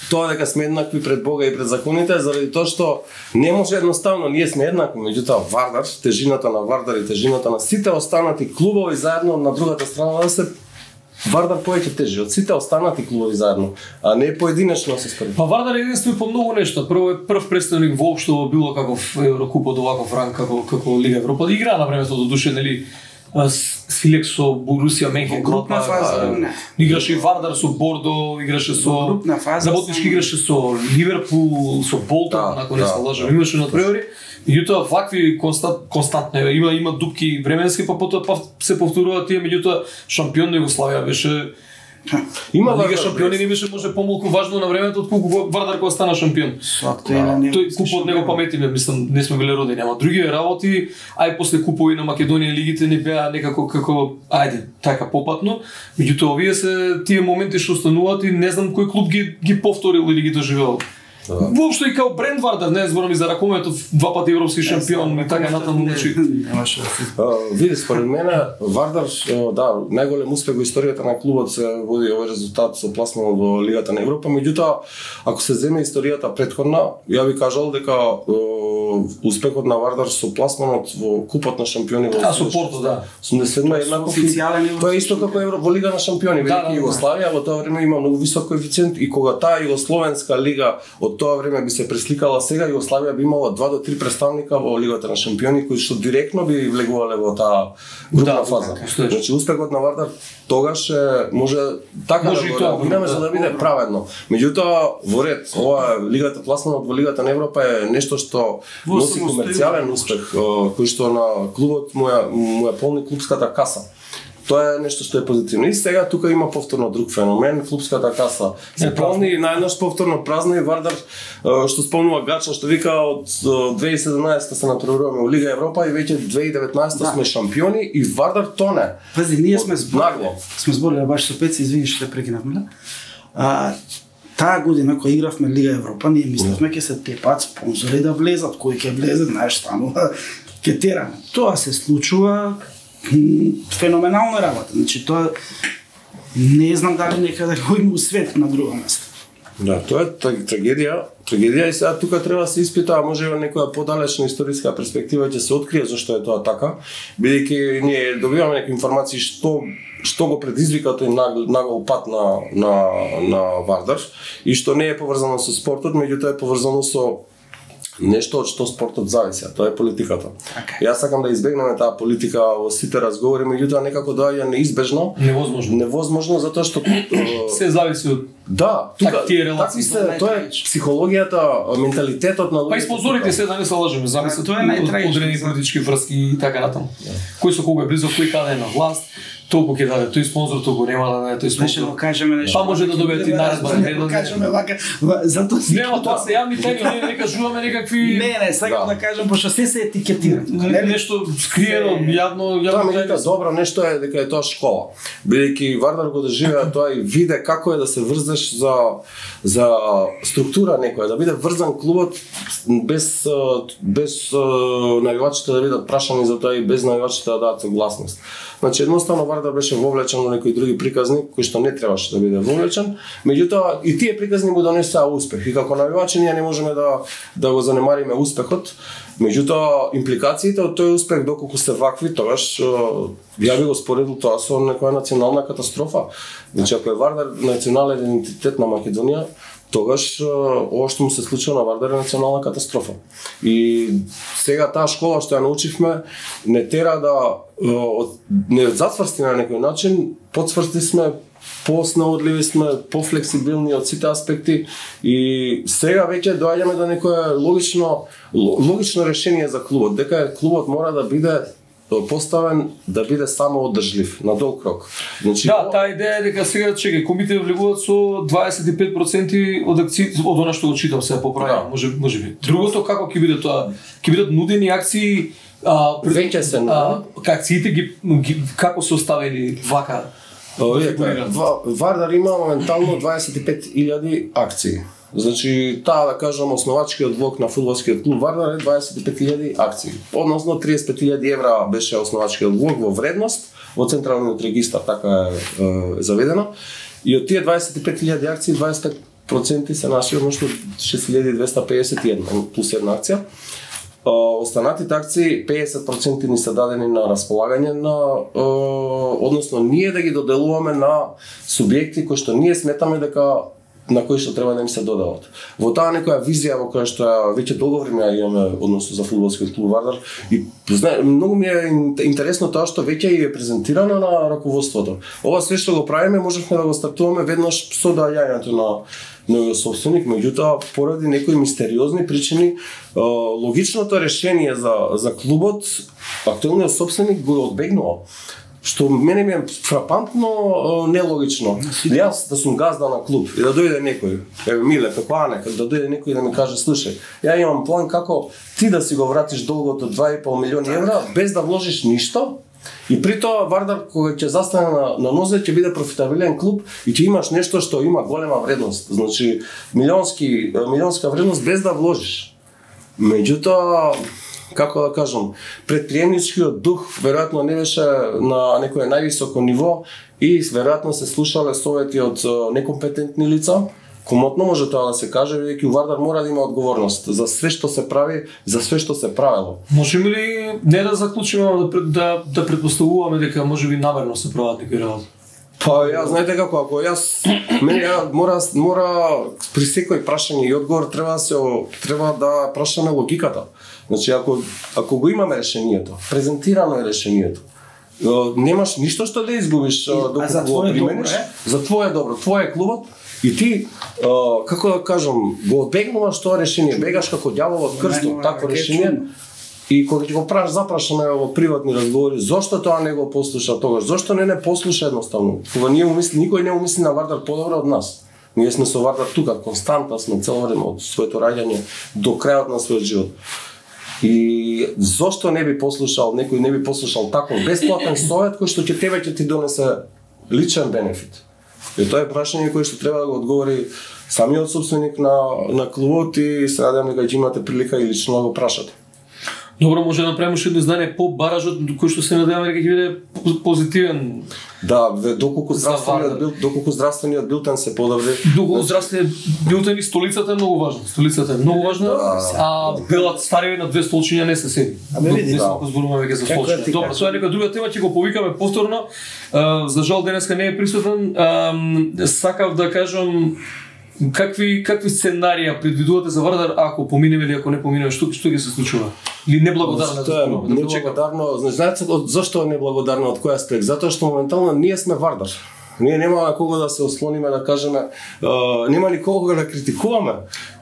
тоа дека сме еднакви пред Бога и пред законите, заради тоа што не може едноставно, ние сме еднакви, меѓутоа Вардар, тежината на Вардар и тежината на сите останати клубови заедно на другата страна да се Вардар повеќе тежи од сите останати клубови заедно, а не поединечно се според. Па Вардар е единствен по многу нешта. Прво е прв представник воопшто во било каков Еврокуп од оваков ранг како како Лига Европа. Игра на времето до душе, нели? Свилек со Борусија Менхен, групна фаза, играше и Вардар со Бордо, играше со работнички, играше со Ливерпул, со Болтон, ако не се лажам, имаше надпревари. Меѓутоа вакви констант константно има има дупки временски, па потоа па се повторуваат тие, меѓутоа шампион на Југославија беше има Лига шампиони не беше може помалку важно на времето отколку Вардар кога стана шампион. Тој купот него паметиме, мислам, не сме биле родени, ама други работи, ај после купови на Македонија лигите не беа некако како ајде, така попатно. Меѓутоа овие се тие моменти што остануваат и не знам кој клуб ги ги повторил или ги доживеал. Да. Воопшто и као бренд Вардар, не зборам и за ракометот, два пати европски шампион и така натаму, значи. Види, според мене Вардар, да, најголем успех во историјата на клубот се води овој резултат со пласманот во Лигата на Европа, меѓутоа ако се земе историјата претходна, ја би кажал дека успехот на Вардар со пласманот во Купот на шампиони во со Порто, да. осумдесет седма еднаков. Тоа е исто како Евро во Лига на шампиони, да, да, Југославија во тоа време има многу висок коефициент и кога таа југословенска лига од тоа време би се пресликала сега, Југославија би имала два до три представника во Лигата на шампиони кои што директно би влегувале во таа групна да, фаза. Да, значи успехот на Вардар тогаш е, може така може да го регулираме за да биде праведно. Меѓутоа во ред, ова Лигата пласманот во Лигата на Европа е нешто што носи комерцијален успех, кој што на клубот му ја, му ја полни клубската каса. Тоа е нешто што е позитивно. И сега тука има повторно друг феномен, клубската каса се полни и најнаш повторно празна и Вардар што спомнува Гача што вика од две илјади и седнаесетта се натпреваруваме во Лига Европа и веќе две илјади и деветнаесетта да. Сме шампиони и Вардар тоне. Пази, ние сме зборили, сме зборили баш со Пеци, извини што те прекинавме. А таа година кога игравме Лига Европа, ние мислевме ќе се тепаат спонзори да влезат, кои ќе влезат, знаеш, станува ќе тераме. Тоа се случува феноменална работа. Значи тоа не знам дали некаде го има свет на друго место. Да, тоа е трагедија. Трагедија и сега тука треба да се испита, а може во некоја подалечна историска перспектива ќе се открие зашто е тоа така, бидејќи ние добиваме некои информации што што го предизвика тој нагол пат на на на Вардар и што не е поврзано со спортот, меѓутоа е поврзано со нешто од што спортот зависи, тоа е политиката. Okay. Јас сакам да избегнеме таа политика во сите разговори, меѓутоа некако доаѓа неизбежно, невозможно. Невозможно затоа што се зависи од да, тука такви се, тоа е психологијата, менталитетот на луѓето. Па и спонзорите се да не се лажеме, зависи тоа е најтрајично. Одредени политички врски и така натаму. Кој со кого е близо, кој каде е на власт. толку ќе даде, тој спонзор толку нема да даде, тој Значи, спонзор. да кажеме нешто. Па може да добиете и наредба, не да кажеме вака, затоа си. Нема, тоа се јавни теми, ние не кажуваме некакви Не, не, сакам да кажам пошто се се етикетира. нешто скриено, јавно, Тоа јавно. меѓутоа добро нешто е дека е тоа школа. Бидејќи Вардар го доживеа тоа и виде како е да се врзеш за за структура некоја, да биде врзан клубот без без навивачите да бидат прашани за тоа и без навивачите да дадат согласност. Значи едноставно Вардар беше вовлечен во некои други приказни кои што не требаше да биде вовлечен, меѓутоа и тие приказни му донесаа успех. И како навивачи ние не можеме да да го занемариме успехот. Меѓутоа импликациите од тој успех доколку се вакви, тогаш ја би го споредил тоа со некоја национална катастрофа. Значи ако е Вардар национален идентитет на Македонија, тогаш ова што му се случува на Вардар е национална катастрофа. И сега таа школа што ја научивме не тера да не затврсти на некој начин, потврсти сме, поснаудливи сме, пофлексибилни од сите аспекти и сега веќе доаѓаме до некое логично логично решение за клубот, дека клубот мора да биде поставен да биде само одржлив на долг рок. Значи, Да, таа идеја е дека сега чекај, комите влегуваат со дваесет и пет проценти од акции, од она што го читам сега поправено, Да. може може би. Другото како ќе биде тоа? Ќе бидат нудени акции, а Веќе се нудени. акциите ги, ги како се оставени вака? Видете, Вардар има моментално дваесет и пет илјади акции. Значи, таа да кажам основачкиот блок на фудбалскиот клуб Вардар е дваесет и пет илјади акции. Односно триесет и пет илјади евра беше основачкиот блок во вредност во централниот регистар, така е, е заведено. И од тие дваесет и пет илјади акции дваесет и пет проценти се наши, односно шест илјади двесте пеесет и една плюс една акција. Останатите акции пеесет проценти ни се дадени на располагање на односно ние да ги доделуваме на субјекти кои што ние сметаме дека на кои што треба да им се додават. Во таа некоја визија во која што веќе долго време имаме односно за фудбалскиот клуб Вардар и знае, многу ми е интересно тоа што веќе е презентирано на раководството. Ова све што го правиме можевме да го стартуваме веднаш со доаѓањето на новиот собственик, меѓутоа поради некои мистериозни причини логичното решение за за клубот актуелниот собственик го одбегнува. Што мене ми е фрапантно нелогично. Јас да сум газда на клуб и да дојде некој, еве Миле, како Ане, да дојде некој и да ми каже, слушај, ја имам план како ти да си го вратиш долгот од два и пол милиони евра без да вложиш ништо. И при тоа Вардар кога ќе застане на, на нозе ќе биде профитабилен клуб и ќе имаш нешто што има голема вредност. Значи милионски милионска вредност без да вложиш. Меѓутоа како да кажам, предприемничкиот дух веројатно не беше на некое највисоко ниво и веројатно се слушале совети од некомпетентни лица. Комотно може тоа да се каже, бидејќи Вардар мора да има одговорност за све што се прави, за све што се правело. Можеме ли не да заклучиме, да да, да предпоставуваме дека можеби намерно се прават некои работи? Па ја знаете како, ако јас мене ја мора мора при секој прашање и одговор треба да се треба да прашаме логиката. Значи ако ако го имаме решението, презентирано е решението, немаш ништо што да изгубиш доколку го примениш. За твое добро, твое клубот и ти како да кажам, го одбегнуваш тоа решение, бегаш како ѓавол од крстот, такво решение. И кога ќе го праш запрашаме во приватни разговори, зошто тоа не го послуша тогаш? Зошто не не послуша едноставно? Кога ние му мисли, никој не му мисли на Вардар подобро од нас. Ние сме со Вардар тука константно сме цело време од своето раѓање до крајот на својот живот. И зошто не би послушал, некој не би послушал таков бесплатен совет кој што ќе тебе ќе ти донесе личен бенефит. И тоа е прашање кое што треба да го одговори самиот собственик на на клубот и се надевам дека ќе имате прилика и лично да го прашате. Добро, може да направиме уште едно издание по баражот кој што се надеваме дека ќе биде позитивен. Да, доколку здравствениот бил, доколку здравствениот билтен се подобри. Доколку здравствениот билтен и столицата е многу важна. Столицата е многу важна, да, а белат стариот на две столчиња не се седи. Абе види, не да. сме зборуваме веќе за столчиња. Добро, тоа е нека друга тема, ќе го повикаме повторно. Uh, за жал денеска не е присутен. Uh, сакав да кажам какви какви сценарија предвидувате за Вардар ако поминеме или ако не поминеме, што што ќе се случува? Или неблагодарно да зборуваме? Неблагодарно, знаете зошто е неблагодарно, од кој аспект? Затоа што моментално ние сме Вардар. Ние нема кого да се ослониме, да кажеме, uh, нема никого да критикуваме.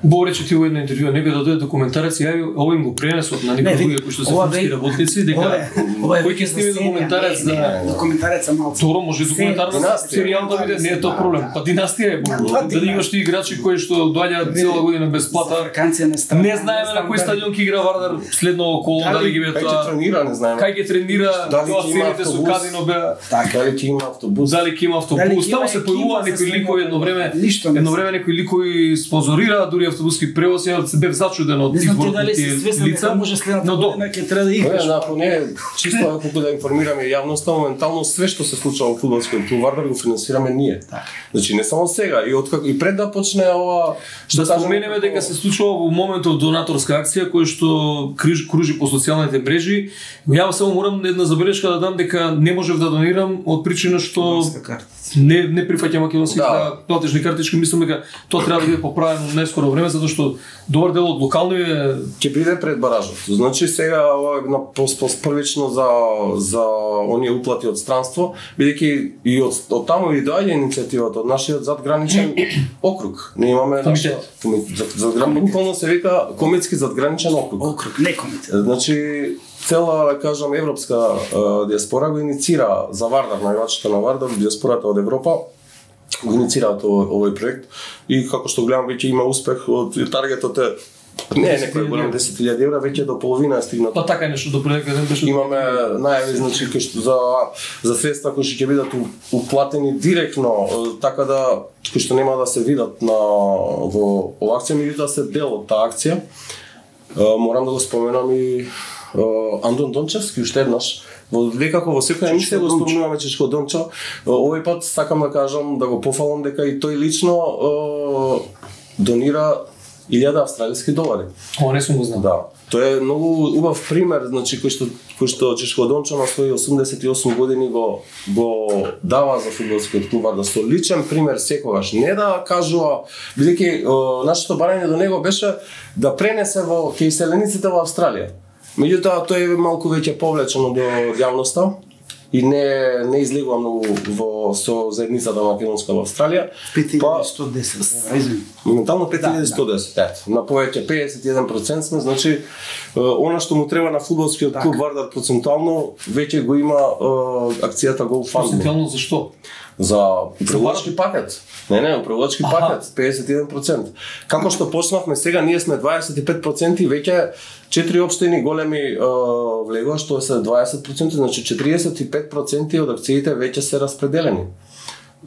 Бо рече ти во една интервју, некој да дојде документарец и јави, овој му пренесот на некои други кои што се филмски работници, дека кој ќе сними документарец за документареца малку. Добро, може документарна серијал да биде, не е тоа проблем. Па династија е бо. Дали имаш ти играчи кои што доаѓаат цела година без плата. Не знаеме на кој стадион ќе игра Вардар следно коло, дали ги бе тоа. Кај ќе тренира, не знаеме. Кај ќе тренира, тоа целите со казино беа. Дали ќе има автобус? Дали ќе има автобус? Таму се појавува некои ликови едно време. Едно време некои ликови спонзорираа дури автобуски превоз, ја се бев зачуден од изборот на тие лица. Но до ќе треба да играш. Не, ако не, чисто ако да информираме јавноста, моментално све што се случува во фудбалскиот клуб Вардар го финансираме ние. Значи не само сега, и откако и пред да почне ова што да споменеме дека се случува во моментов донаторска акција која што кружи по социјалните мрежи. Ја само морам една забелешка да дам дека не можев да донирам од причина што не не прифаќам македонски да. платежни картички, мислам дека тоа треба да биде поправено во најскоро време затоа што добар дел од локални ќе биде пред баражот. Значи сега ова на првично за за оние уплати од странство, бидејќи и од, од таму и доаѓа иницијативата од нашиот задграничен округ. Не имаме комитет. Задграничен буквално се вика кометски задграничен округ. Округ, не комитет. Значи цела, да кажам, европска uh, диаспора го иницира за Вардар, највачето на Вардар, диаспората од Европа го иницираат овој, овој проект и како што гледам веќе има успех, од таргетот е не е некој голем десет илјади евра, веќе до половина е стигнато. Па така нешто до пред дека беше. Имаме најави, значи кои што за за средства кои што ќе бидат уплатени директно, така да кои што нема да се видат на во оваа акција, меѓутоа се дел од таа акција. Морам да го споменам и Uh, Андон Дончевски уште еднаш, во некако во секоја емисија го спомнуваме Чичко Дончо. Uh, овој пат сакам да кажам, да го пофалам дека и тој лично uh, донира илјада австралиски долари. Ова не сум го знал. Да. Тоа е многу убав пример, значи кој што кој што Чичко Дончо на своји осумдесет и осум години го го дава за фудбалскиот клуб Вардар со личен пример секогаш, не да кажува, бидејќи uh, нашето барање до него беше да пренесе во кај селениците во Австралија. Меѓутоа тој е малку веќе повлечено до јавноста и не не излегува многу во со заедницата македонска во Австралија. пет илјади сто десет, извини. Моментално пет илјади сто десет. Да, да. На повеќе педесет и еден процент сме, значи она што му треба на фудбалскиот клуб Вардар процентуално веќе го има акцијата GoFundMe. Процентуално зашто? За управлачки пакет. Не, не, управлачки пакет, педесет и еден процент. Како што почнавме сега, ние сме дваесет и пет проценти, веќе четири општини големи е, влегува, што се дваесет проценти, значи четириесет и пет проценти од акциите веќе се распределени.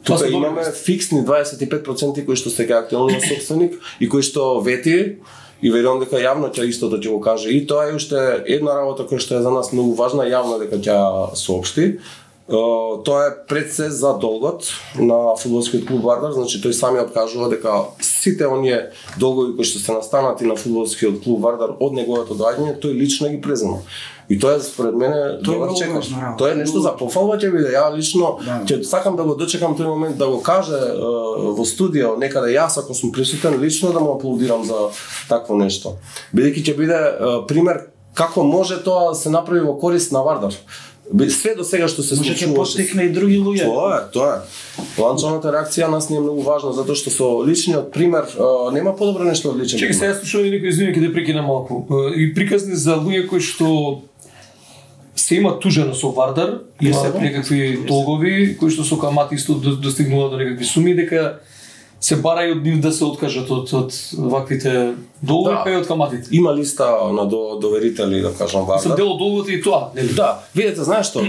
Тука имаме фиксни дваесет и пет проценти кои што сега актуелно собственик и кои што вети и верувам дека јавно ќе истото ќе го каже. И тоа е уште една работа која што е за нас многу важна, јавно дека ќе соопшти. Uh, тоа е пред се за долгот на фудбалскиот клуб Вардар, значи тој самиот кажува дека сите оние долгови кои што се настанати на фудбалскиот клуб Вардар од неговото доаѓање, тој лично ги презема. И тоа е според мене добар чекор. Тоа е нешто за пофалба ќе биде. Ја лично ќе да. сакам да го дочекам тој момент да го каже uh, во студио некаде јас ако сум присутен лично да му аплодирам за такво нешто. Бидејќи ќе биде uh, пример како може тоа да се направи во корист на Вардар. Све до сега што се случува, може ќе поттекне и други луѓе. Тоа е, тоа е. Ланчовната реакција нас не е многу важна затоа што со личниот пример а, нема подобро нешто од личен. Чекај, сега слушам и некои извини ќе те прекина малку. И приказни за луѓе кои што се има тужено со Вардар, имаат некакви долгови кои што со камати исто достигнува до некакви суми, дека се бара и од нив да се откажат од од ваквите долгови, да, па и од каматите. Има листа на до, доверители, да кажам, Вардар. Се дел од долгот и тоа, нели? Да, видете, знаеш што,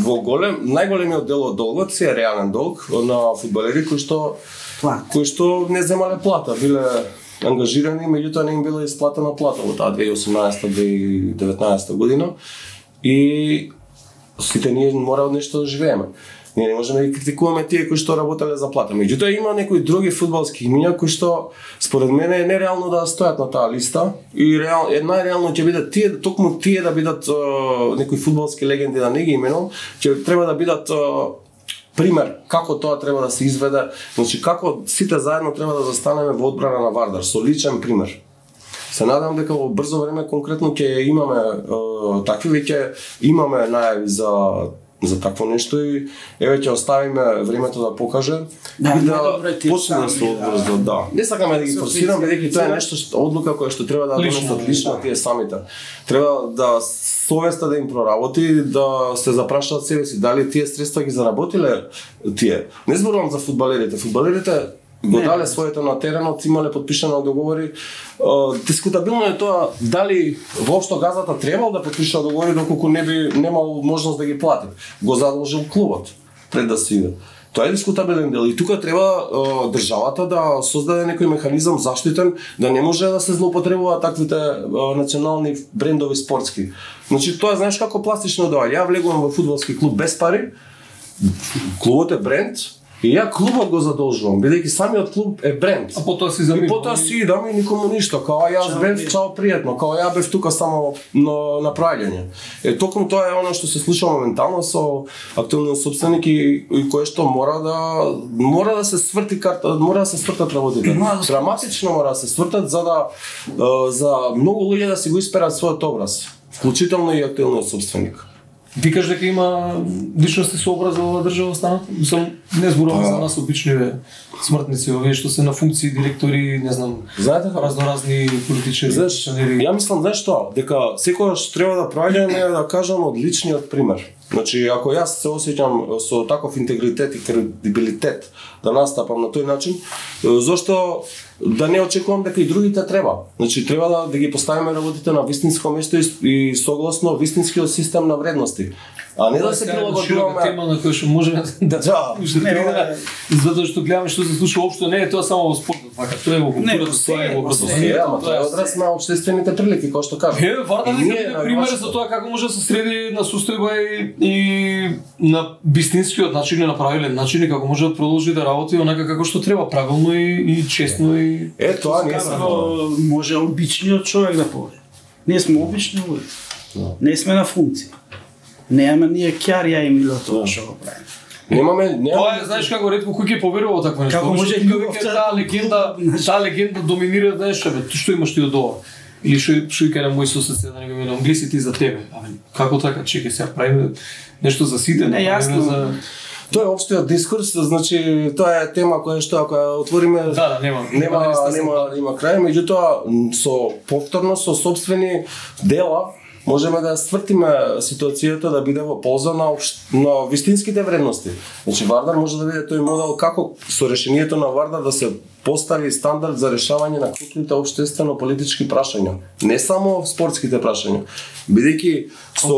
во голем, најголемиот дел од долгот си е реален долг на фудбалери кои што кои што не земале плата, биле ангажирани, меѓутоа не им била исплатена плата во таа две илјади и осумнаесета две илјади и деветнаесета година и сите ние мора од нешто да живееме. Ние не можеме да критикуваме тие кои што работеле за плата. Меѓутоа има некои други фудбалски имиња кои што според мене е нереално да стојат на таа листа и реално е најреално ќе бидат тие токму тие да бидат uh, некои фудбалски легенди да не ги именувам, ќе треба да бидат uh, пример како тоа треба да се изведе, значи како сите заедно треба да застанеме во одбрана на Вардар со личен пример. Се надам дека во брзо време конкретно ќе имаме uh, такви, веќе имаме најави за за такво нешто и еве ќе оставиме времето да покаже да, и да почне почне со одбор, да. Не сакаме да ги форсираме, бидејќи тоа е нешто што одлука која што треба да донесат лично тие самите. Треба да совеста да им проработи, да се запрашаат себе си дали тие средства ги заработиле тие. Не зборувам за фудбалерите. Фудбалерите го дале своето на теренот, имале подпишано договори. Дискутабилно е тоа дали воопшто газата требал да подпиша договори доколку не би немал можност да ги плати. Го задолжил клубот пред да се иде. Тоа е дискутабилен дел и тука треба е, државата да создаде некој механизам заштитен да не може да се злоупотребува таквите е, национални брендови спортски. Значи тоа знаеш како пластично доаѓа. Ја влегувам во фудбалски клуб без пари. Клубот е бренд. И ја клубот го задолжувам, бидејќи самиот клуб е бренд. А потоа си заминува. И потоа си идам и никому ништо, као јас бев чао пријатно, као ја бев тука само на направање. Е токму тоа е она што се случува моментално со актуелниот собственик и, и кое што мора да мора да се сврти карта, мора да се свртат работите. Драматично мора да се свртат за да за многу луѓе да си го исперат својот образ, вклучително и актуелниот собственик. Викаш дека има личности со образ во оваа држава останат? Сам не зборувам за нас обични смртници, овие што се на функции, директори, не знам, знаете како разноразни политичари. Знаеш, ја мислам знаеш што, дека секогаш треба да проаѓаме да кажам од личниот пример. Значи, ако јас се осеќам со таков интегритет и кредибилитет да настапам на тој начин, зошто да не очекувам дека и другите треба. Значи, треба да, да ги поставиме работите на вистинско место и, и согласно вистинскиот систем на вредности. А не да се прилагодуваме тема на која што можеме да да, затоа што гледаме што се случува општо, не е тоа само во спортот, вака, тоа е во културата, тоа е во образованието, тоа е одраз на општествените прилики, кој што кажа. Е, Вардар нека биде пример за тоа како може да се среди на состојба и, и на вистинскиот начин, на правилен начин и како може да продолжи да работи онака како што треба, правилно и, и честно и е тоа не е може обичниот човек да поведе. Ние сме обични луѓе. Не сме на функција. Немаме ние кјарија и милото што го правиме. Немаме, немаме. Тоа е, знаеш како ретко кој ќе поверува во такво нешто. Како може љубовта таа легенда, таа легенда доминира, знаеш, бе, што имаш ти од ова? Или што што ќе на мој сосед се да не го велам, глеси ти за тебе. Абе, како така, чекај сега правиме нешто за сите, не јасно за Тоа е општиот дискурс, значи тоа е тема која што ако ја отвориме да, да, нема, нема нема, нема, нема крај, меѓутоа со повторно со сопствени дела можеме да свртиме ситуацијата да биде во полза на, на вистинските вредности. Значи Вардар може да биде тој модел како со решението на Вардар да се постави стандард за решавање на крупните општествено-политички прашања, не само спортските прашања, бидејќи со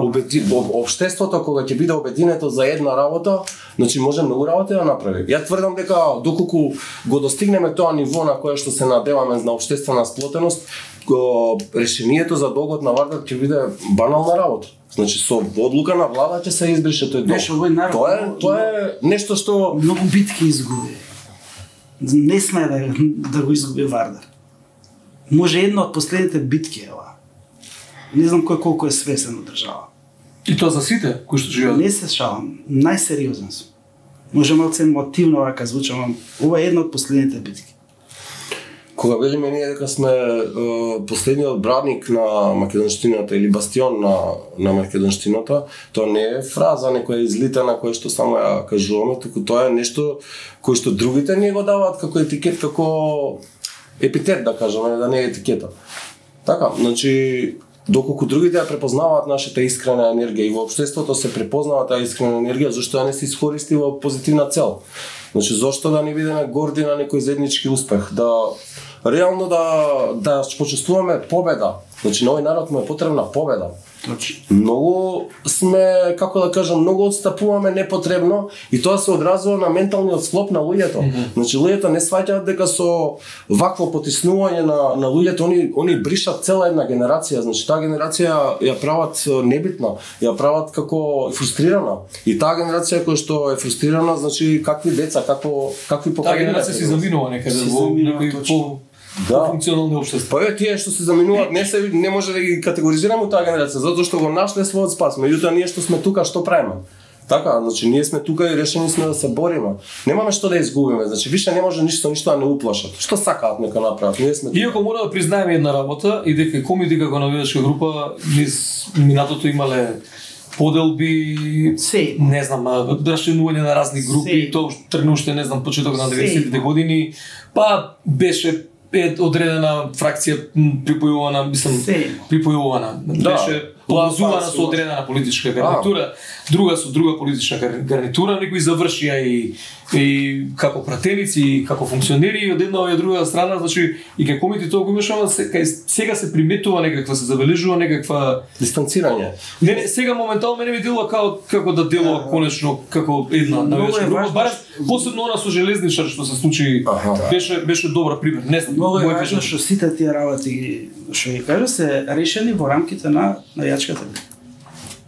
обеди, општеството кога ќе биде обединето за една работа, значи може многу работи да направи. Ја тврдам дека доколку го достигнеме тоа ниво на кое што се надеваме на општествена сплотеност, решението за долгот на Вардар ќе биде банална работа. Значи со одлука на влада ќе се избрише тој долг. Тоа е тоа е нешто што многу битки изгуби. Не сме да, да го изгуби Вардар. Може една од последните битки е ова. Не знам кој колку е свесен од држава. И тоа за сите кои што живеат. Не се шалам, најсериозен сум. Може малце емотивно вака звучам, ова е една од последните битки. Кога велиме ние дека сме е, последниот браник на македонштината или бастион на, на македонштината, тоа не е фраза некоја излитана која што само ја кажуваме, туку тоа е нешто кој што другите не го даваат како етикет, како епитет да кажеме, да не е етикета. Така, значи доколку другите ја препознаваат нашата искрена енергија и во општеството се препознава таа искрена енергија, зашто ја не се искористи во позитивна цел. Значи зошто да не бидеме горди на некој заеднички успех, да реално да да почувствуваме победа. Значи на овој народ му е потребна победа. Точно. Многу сме, како да кажам, многу отстапуваме непотребно и тоа се одразува на менталниот склоп на луѓето. Mm -hmm. Значи луѓето не сваќаат дека со вакво потиснување на на луѓето они они бришат цела една генерација. Значи таа генерација ја прават небитна, ја прават како фрустрирана. И таа генерација која што е фрустрирана, значи какви деца, како какви поколенија. Таа генерација се заминува некаде во некој по да. функционални општества. Па е тие што се заминуваат не се не може да ги категоризираме таа генерација затоа што го нашле својот спас. Меѓутоа ние што сме тука што правиме? Така, значи ние сме тука и решени сме да се бориме. Немаме што да изгубиме, значи више не може ништо ништо да не уплашат. Што сакаат нека направат? Ние сме тука. Иако мора да признаеме една работа и дека комити како навидачка група низ минатото имале поделби, Се. не знам, рашенување на разни групи, Се. тоа тргна уште, не знам, почеток на Се. деветдесетите години, па беше е одредена фракција припојувана, мислам, Се. припојувана, Да. беше плазувана Окупација. со одредена политичка гарнитура, друга со друга политичка гар- гарнитура, некои завршија и и како пратеници, и како функционери, и од една и од друга страна, значи и кај комити тоа го имаш, ама се- кај- сега се приметува некаква, се забележува некаква. Дистанцирање. Не, не, сега моментално мене ми делува како како да делува конечно како една Многу навечка е група, важно барем што- посебно она со железничар што се случи, Аха. беше беше добар пример. Не знам, Многу е мој важно кажа- што сите тие работи ги- што ги кажа се решени во рамките на најачката.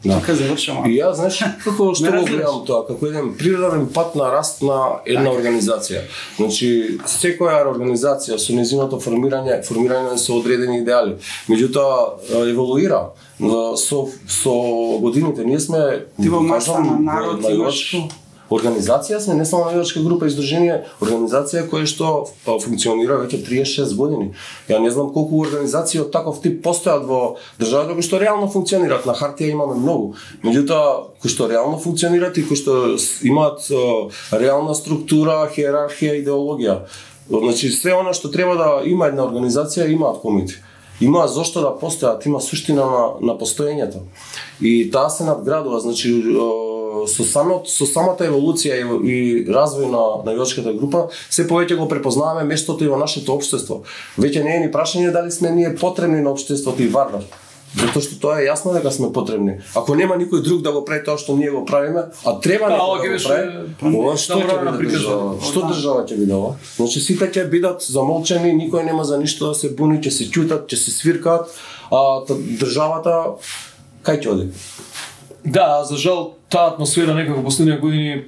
Да. Така завршувам. И јас, знаеш, како што Не го разбираш. гледам тоа, како еден природен пат на раст на една организација. Значи, секоја организација со нејзиното формирање, формирање со одредени идеали. Меѓутоа, еволуира. Но Со, со годините ние сме, Ти во маса кажам, на народ најлош имаш- организација сме, не само навивачка група и издружение, организација која што а, функционира веќе триесет и шест години. Ја не знам колку организации од таков тип постојат во државата кои што реално функционираат. На хартија имаме многу. Меѓутоа, кои што реално функционираат и кои што с- имаат а, реална структура, хиерархија, идеологија. Значи, се она што треба да има една организација, имаат комити. Има зошто да постојат, има суштина на, на постоењето. И таа се надградува, значи е, со самот со самата еволуција и, и развој на навивачката група, се повеќе го препознаваме местото и во нашето општество. Веќе не е ни прашање дали сме ние потребни на општеството и Вардар. Затоа што тоа е јасно дека сме потребни. Ако нема никој друг да го прави тоа што ние го правиме, а треба Да, некој ова да ќе го беше прави, ова што ќе направена биде приказна. држава? Што држава ќе биде ова? Значи сите ќе бидат замолчени, никој нема за ништо да се буни, ќе се ќутат, ќе се свиркаат, а та- државата кај ќе оди? Да, за жал таа атмосфера некако последните години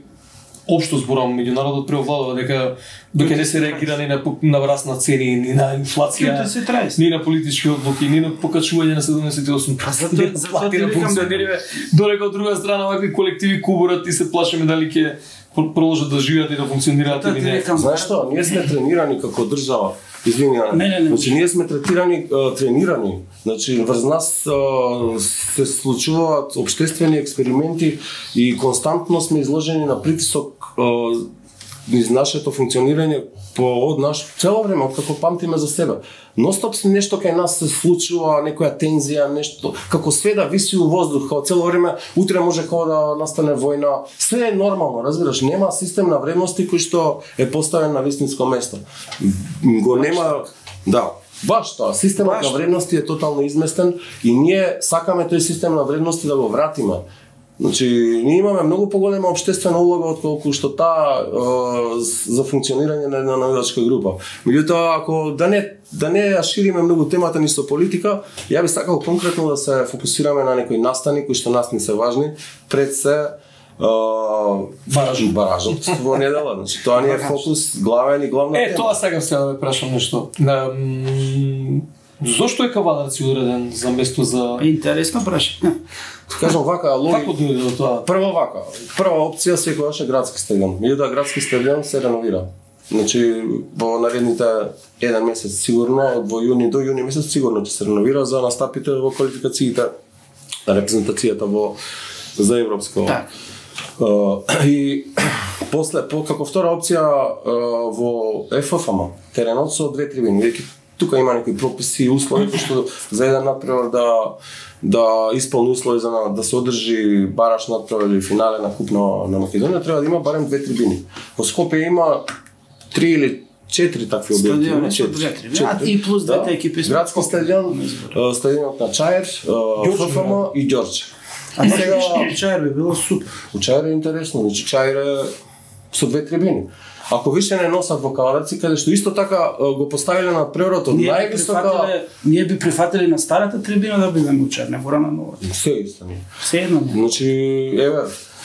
општо зборам меѓу народот преовладува дека дека не се реагира ни на на раст на цени, ни на инфлација, Ќуте се траест. ни на политички одлуки, ни на покачување на седумдесет и осум проценти затоа- на затоа плати ти на викам функционериве, додека од друга страна вакви колективи кубурат и се плашиме дали ќе продолжат да живеат и да функционираат Затоа или ти не. викам, Знаеш што, ние сме тренирани како држава. Извини, Ана. Не, не, не. Значи ние сме третирани, а, тренирани. Значи врз нас а, се случуваат општествени експерименти и константно сме изложени на притисок а, низ нашето функционирање по од наш цело време од како памтиме за себе. Ностоп се нешто кај нас се случува, некоја тензија, нешто како све да виси у воздух, како цело време утре може како да настане војна. Све е нормално, разбираш, нема систем на вредности кој што е поставен на вистинско место. Го нема, да, баш тоа, системот Баш на тоа. вредности е тотално изместен и ние сакаме тој систем на вредности да го вратиме. Значи, ние имаме многу поголема општествена улога отколку што таа е, за функционирање на една навивачка група. Меѓутоа, ако да не да не ја шириме многу темата ни со политика, ја би сакал конкретно да се фокусираме на некои настани кои што нас не се важни, пред се Баражот. баражот во недела. Значи, тоа ни е фокус, главен и главна Е, тема. тоа сега сега да ве прашам нешто. Ам, Зошто е Кавадарци одреден за место за... Интересно прашање. Кажам вака, логи... Како дојде до тоа? Прво вака, прва опција секогаш е градски стадион. Меѓутоа градски стадион се реновира. Значи во наредните еден месец сигурно, од во јуни до јуни месец сигурно ќе се реновира за настапите во квалификациите, репрезентацијата во за европско. Так. Uh, и после по како втора опција uh, во Еф Ф М теренот со две трибини. Веќе тука има некои прописи и услови кои што за еден надпревар да да исполни услови за на, да се одржи бараш надпревар или финале на куп на, на Македонија треба да има барем две трибини. Во Скопје има три или четири такви објекти. Стадиони има со четири. две трибини. Четири. А и плюс двете Да. екипи со Градски Скопје. стадион, uh, стадионот на Чаер, uh, Ф Ф М и Ѓорче. А сега Чаер би било супер. У Чаир е интересно, значи Чаир е со две трибини. Ако више не носат во Кавадарци, каде што исто така е, го поставиле на преврот од Ние би највисока... прифатиле, ние би прифатили на старата трибина да бидеме у Чаер, не мора на новата. Се исто ни. Се едно не. Значи, еве,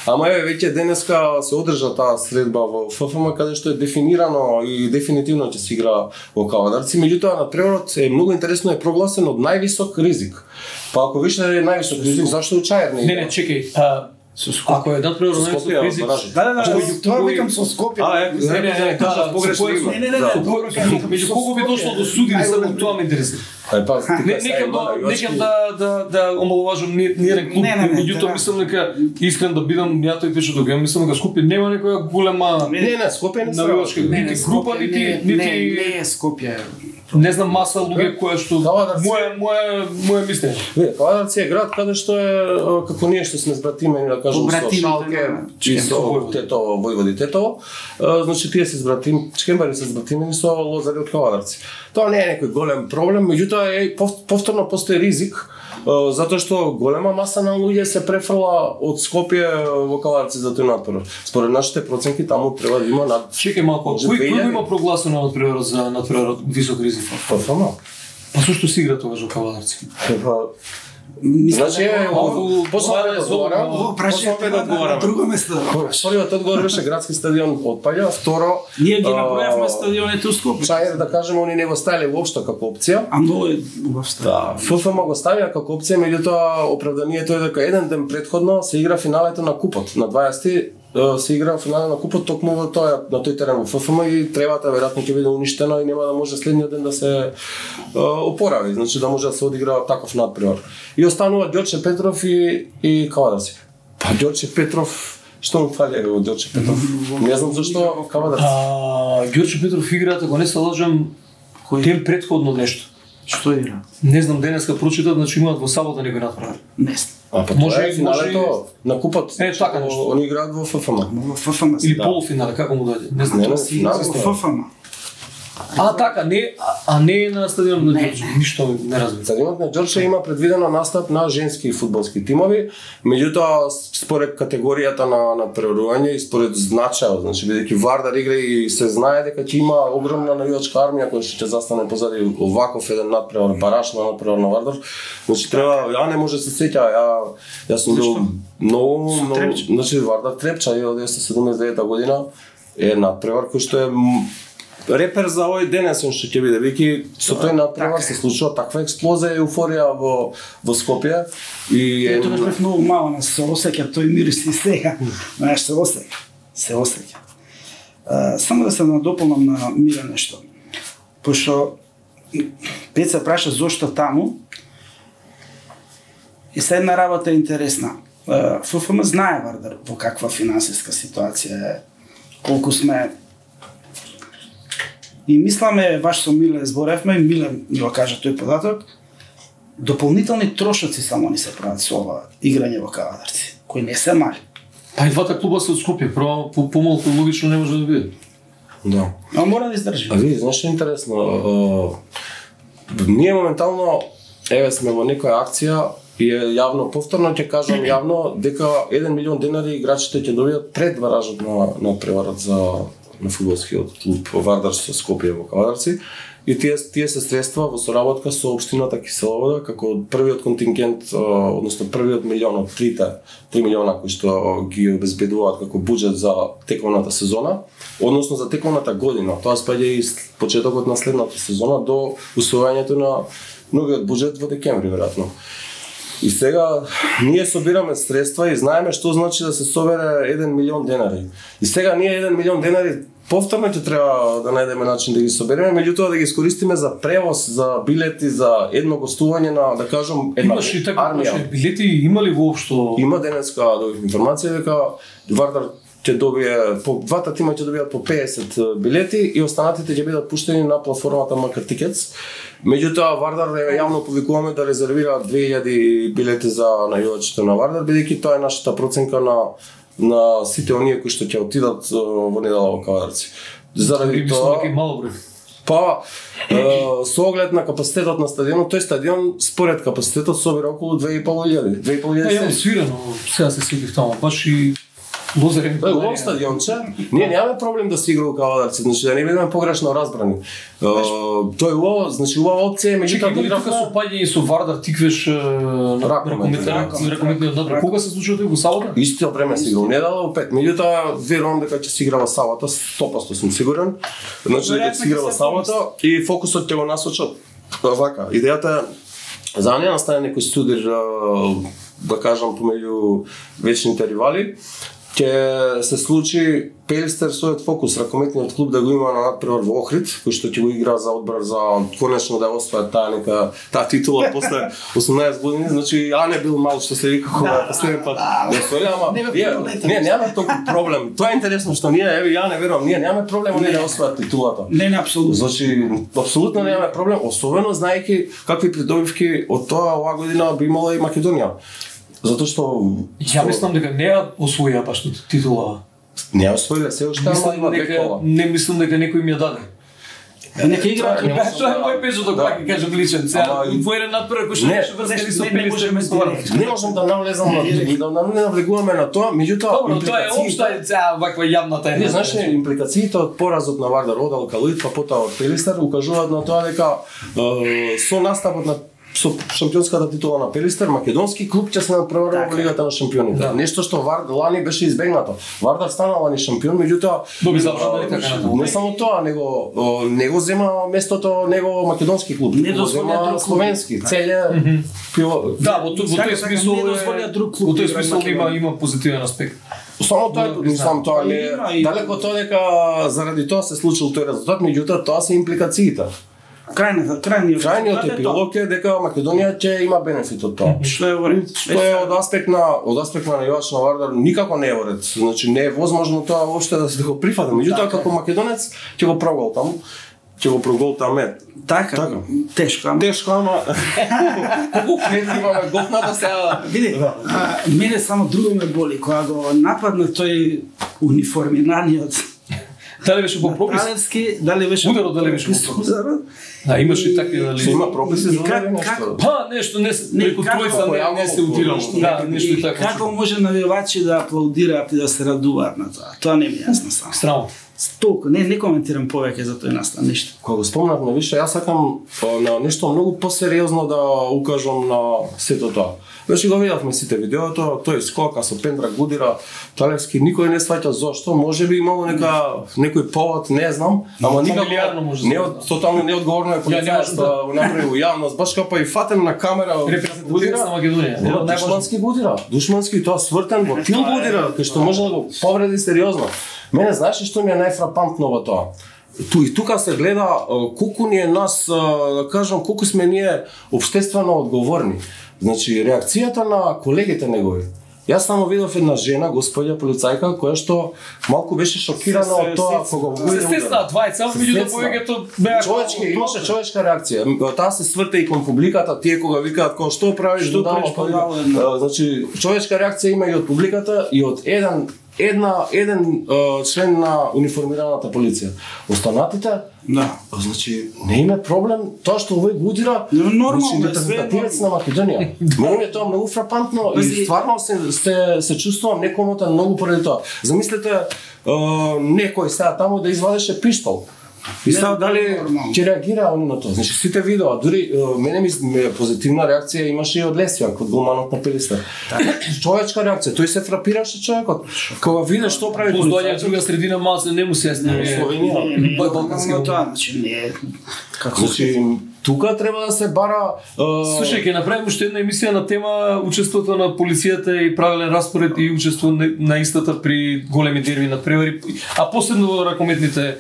ама еве веќе денеска се одржа таа средба во Ф Ф М каде што е дефинирано и дефинитивно ќе се игра во Кавадарци, меѓутоа на преврот е многу интересно е прогласен од највисок ризик. Па ако више е највисок ризик, зашто у Чаир не Не, игра? не, чекај. А, Со Скопје. Ако е надпревар на Скопје, Ризик. баражот. Да, да, да, Меѓу тоа кој- викам со Скопје. А, е, не, не, не, кажав да, погрешно со кој- име. Не, не, не, Да. не, добро кажам. Меѓу кого би дошло до суди и само тоа ме интересира. Ај па, Не, некам да, некам да да да омаловажам ни ни еден клуб, Не, не, не, меѓутоа тоа- мислам дека искрен да бидам ја тој пише дека мислам дека Скопје нема некоја голема Не, не, Скопје не навивачка се. Не, нити не, група, Скопје, нити не, нити не, не е Скопје. не знам маса луѓе која што Кавадарци. моje моje моje мислење. Не, Кавадарци е град каде што е а, како ние што сме збратимени, да кажем, со Побратимите Шалке на и со Војводи. Тетово, Војводи Тетово. А, Значи тие се збратим, Чекембари се збратимени со Лозари од Кавадарци. Тоа не е некој голем проблем, меѓутоа е пов- повторно постои ризик, а, затоа што голема маса на луѓе се префрла од Скопје во Кавадарци за тој натпревар. Според нашите проценки таму треба да има над Чекај малку, Може кој две кој илјади? има прогласено надпревар за надпревар висок ризик? ФФМ. Па зошто се игра тогаш во Кавадарци? Мислам Значи, дека е, Ово- после ова е да зло- одговарам, Ово после прашање да на одговарам. друго место. Првиот одговор беше градски стадион отпаѓа, второ Ние ги а, направивме стадионите у Скопје. Чајер да кажеме, они не го ставиле воопшто како опција. А многу е убав стадион. Да, ФФМ го ставија како опција, меѓутоа оправданието е дека еден ден претходно се игра финалето на купот. На дваесети е, се игра финале на купот токму во тој на тој терен во ФФМ и требата веројатно ќе биде уништена и нема да може следниот ден да се е, опорави, значи да може да се одигра таков надпревар. И останува Ѓорче Петров и и Кавадарци. Па Ѓорче Петров, што му фали во Ѓорче Петров? Не знам зашто Кавадарци. А Ѓорче Петров играат, ако не се лажам, ден предходно нешто. Што игра? Не знам, денеска прочитав, значи имаат во сабота некој надпревар. Не знам. А па Може- може, е финалето на купот. Е, така нешто. Они играат во ФФМ. Во ФФМ. Или Да. полуфинале, како му дојде? Не знам. Не, не, Си финал игра е во ФФМ. А така, не, а, а не е на стадионот на Не, Ѓорче. Ништо не разбирам. Стадионот на Ѓорче има предвидено настап на женски фудбалски тимови, меѓутоа според категоријата на на преварување и според значајот, значи бидејќи Вардар игра и се знае дека ќе има огромна навивачка армија која ќе застане позади оваков еден надпревар, бараш на надпревар на Вардар. Значи треба, ја не може да се сеќа, ја јас сум бил многу многу, Трепча. значи Вардар Трепча и од деветстотини седумдесет и девета година е надпревар кој што е м, репер за овој денесен што ќе биде, веќе со тој надпревар се случува таква експлозија и еуфорија во во Скопје и е Тоа бев многу мало, не се осеќа тој мирис и сега. Знаеш, се осеќа. Се осеќа. А, само да се надополнам на Мира нешто. Пошто Пеца праша зошто таму. И се една работа е интересна. А, ФФМ знае Вардар во каква финансиска ситуација е, колку сме. И мисламе, баш со Миле зборевме, и Миле ми го кажа тој податок, дополнителни трошоци само ни се прават со ова играње во Кавадарци, кои не се мали. Па и двата клуба се од Скопје, право по помалку логично не може да биде. да. А мора да издржи. А види, знаеш што е интересно? А, ние моментално еве сме во некоја акција и е јавно, повторно ќе кажам јавно дека еден милион денари играчите ќе добијат пред баражот на на преварот за на фудбалскиот клуб Вардар со Скопје во Кавадарци. И тие тие се средства во соработка со општината Киселовода како првиот контингент, односно првиот милион од трите три милиона кои што ги обезбедуваат како буџет за тековната сезона, односно за тековната година. Тоа спаѓа и почетокот на следната сезона до усвојањето на новиот буџет во декември веројатно. И сега ние собираме средства и знаеме што значи да се собере еден милион денари. И сега ние еден милион денари повторно ќе треба да најдеме начин да ги собереме, меѓутоа да ги искористиме за превоз, за билети, за едно гостување на, да кажам, една Имаш и така армија. имаше билети, има ли воопшто? Има денеска добив информација дека Вардар ќе добие, по двата тима ќе добијат по педесет билети и останатите ќе бидат пуштени на платформата Макар Тикетс. Меѓутоа Вардар јавно повикуваме да резервира две илјади билети за најувачите на Вардар, бидејќи тоа е нашата проценка на на сите оние кои што ќе отидат во недела во Кавадарци. Заради Мислам тоа, дека е мало број. па е, со оглед на капацитетот на стадионот, тој стадион според капацитетот собира околу две и пол илјади. две и пол Па илјади. јам свирано, сега се сетив таму, баш и Лозарен. Тоа е убав стадионче. Ние немаме проблем да се игра во Кавадарци, значи да не бидеме погрешно разбрани. Е, Тоа е убаво, значи убава опција, меѓутоа Чекај, да има ли тука игравме сопаѓање со Вардар Тиквеш на Ракомет, ракометниот ракометниот надпревар? Кога се случува тој во сабота? исто време се игра во недела во пет. Меѓутоа верувам дека ќе се игра во сабота, сто проценти сум сигурен. Значи дека ќе се игра во сабота и фокусот ќе го насочат вака. Идејата е за да не настане некој судир да кажам помеѓу вечните ривали, ќе се случи Пелистер својот фокус, ракометниот клуб да го има на надпревар во Охрид, кој што ќе го игра за одбран за конечно да освои таа нека таа титула после осумнаесет години, значи Ане бил мал што се вика кога последен пат. Не сори, ама не, немаме толку проблем. Тоа е интересно што ние, еве ја не верувам, ние немаме проблем они да освојат титулата. Не, не, апсолутно. Значи апсолутно немаме проблем, особено знаејќи какви придобивки од тоа оваа година би имала и Македонија. Затоа што ја мислам дека не ја освоија баш титула. Не освоија, се уште има векова. Не мислам дека некој ми ја даде. Нека игра, тоа е мој печат кога ќе кажам личен. Сега во еден надпревар кој што беше врска со Пелистер ме стварам. Не можам да навлезам на да не навлегуваме на тоа, меѓутоа добро, тоа е општа цела ваква јавна тајна. Не знаеш импликациите од поразот на Вардар од Алкалоид па потоа од Пелистер укажуваат на тоа дека со наставот на со шампионската титула на Пелистер, македонски клуб ќе се надпреварува во Лигата на шампионите. Да. Нешто што Вардар лани беше избегнато. Вардар стана лани шампион, меѓутоа доби завршена така натаму. Не само тоа, него него зема местото него македонски клуб. Не дозволя словенски. Целе пиво. Да, во тој смисол не дозволя друг клуб. Во тој смисол има има позитивен аспект. Само тоа, сам тоа не далеко тоа дека заради тоа се случил тој резултат, меѓутоа тоа се импликациите. Крајниот крајниот крајниот епилог е дека Македонија ќе има бенефит од тоа. Што е во ред? Што е од аспект на од аспект на навивач на Вардар никако не е во ред. Значи не е возможно тоа воопште да се го прифати. Меѓутоа како македонец ќе го проголтам. Ќе го проголтаме. Така, така. Тешко, ама. Тешко, ама. Колку клетки имаме готната сега. Види, мене само друго ме боли кога го нападна тој униформираниот. Дали беше по пропис? Талевски, дали беше ударот, дали беше по пропис? Да, имаше такви дали. Се има прописи за нешто. Па нешто не преку тројца не се утирало. Да, нешто и така. Како може навивачи да аплаудираат и да се радуваат на тоа? Тоа не ми е јасно само. Странно. Толку, не, не коментирам повеќе за тој настан нешто. Кога го спомнавме више, јас сакам на нешто многу посериозно да укажам на сето тоа. Веќе го видовме сите видеото, тој скока со Пендра Гудира, Талевски, никој не сваќа зошто, можеби имало нека некој повод, не знам, ама никако не од тотално неодговорно е полицајот да го направи во јавност, баш како и фатен на камера Гудира на Македонија. Душмански Гудира, душмански тоа свртен во тил Гудира, кој што може да го повреди сериозно. Мене знаеш што ми е најфрапантно во тоа? Ту и тука се гледа колку ни е нас, да кажам, колку сме ние општествено одговорни. Значи, реакцијата на колегите негови. Јас само видов една жена, господја полицајка, која што малку беше шокирана од тоа кога го види. Се стесна двајца, меѓутоа повеќето беа човечки, имаше човечка реакција. Таа се сврте и кон публиката, тие кога викаат кој што правиш, што правиш, значи човечка реакција има и од публиката и од еден една еден uh, член на униформираната полиција. Останатите, да, значи не има проблем тоа што овој Гудира, нормално е репрезентативец на Македонија. Мене е тоа многу фрапантно и стварно се се, се чувствувам некомотен многу поради тоа. Замислете uh, некој сега таму да извадеше пиштол. И сега дали ќе реагира он на тоа? Значи сите видеа, дури мене ми позитивна реакција имаше и од Лесјак, од голманот на Пелистер. Човечка реакција, тој се фрапираше човекот. Кога виде што прави полицајот, друга средина малце не му се јасни. Словенија, балкански тоа, значи не како значи тука треба да се бара. Слушај, ќе направиме уште една емисија на тема учеството на полицијата и правилен распоред и учество на истата при големи дерби на превари, а посебно ракометните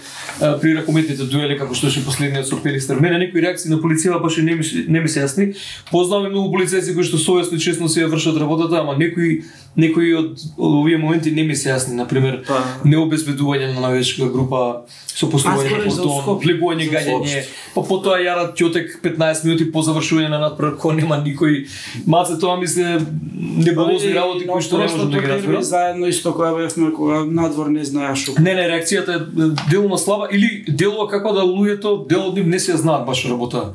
при ракометните дуели како што беше последниот со Пелистер. Мене некои реакции на полицијата баш не ми не ми се јасни. Познавам многу полицајци кои што совесно и честно си ја вршат работата, ама некои некои од, од овие моменти не ми се јасни, на пример, необезбедување на навечка група со постување на понтон, влегување гаѓање, па потоа јарат ќотек петнаесет минути по завршување на надпревар кога нема никој. Маце тоа ми се неболозни работи кои што не можам да ги разберам. Заедно исто кога бевме кога надвор не знаеш што. Не, не, реакцијата е делно слаба или делува како да луѓето дел од нив не се знаат баш работа.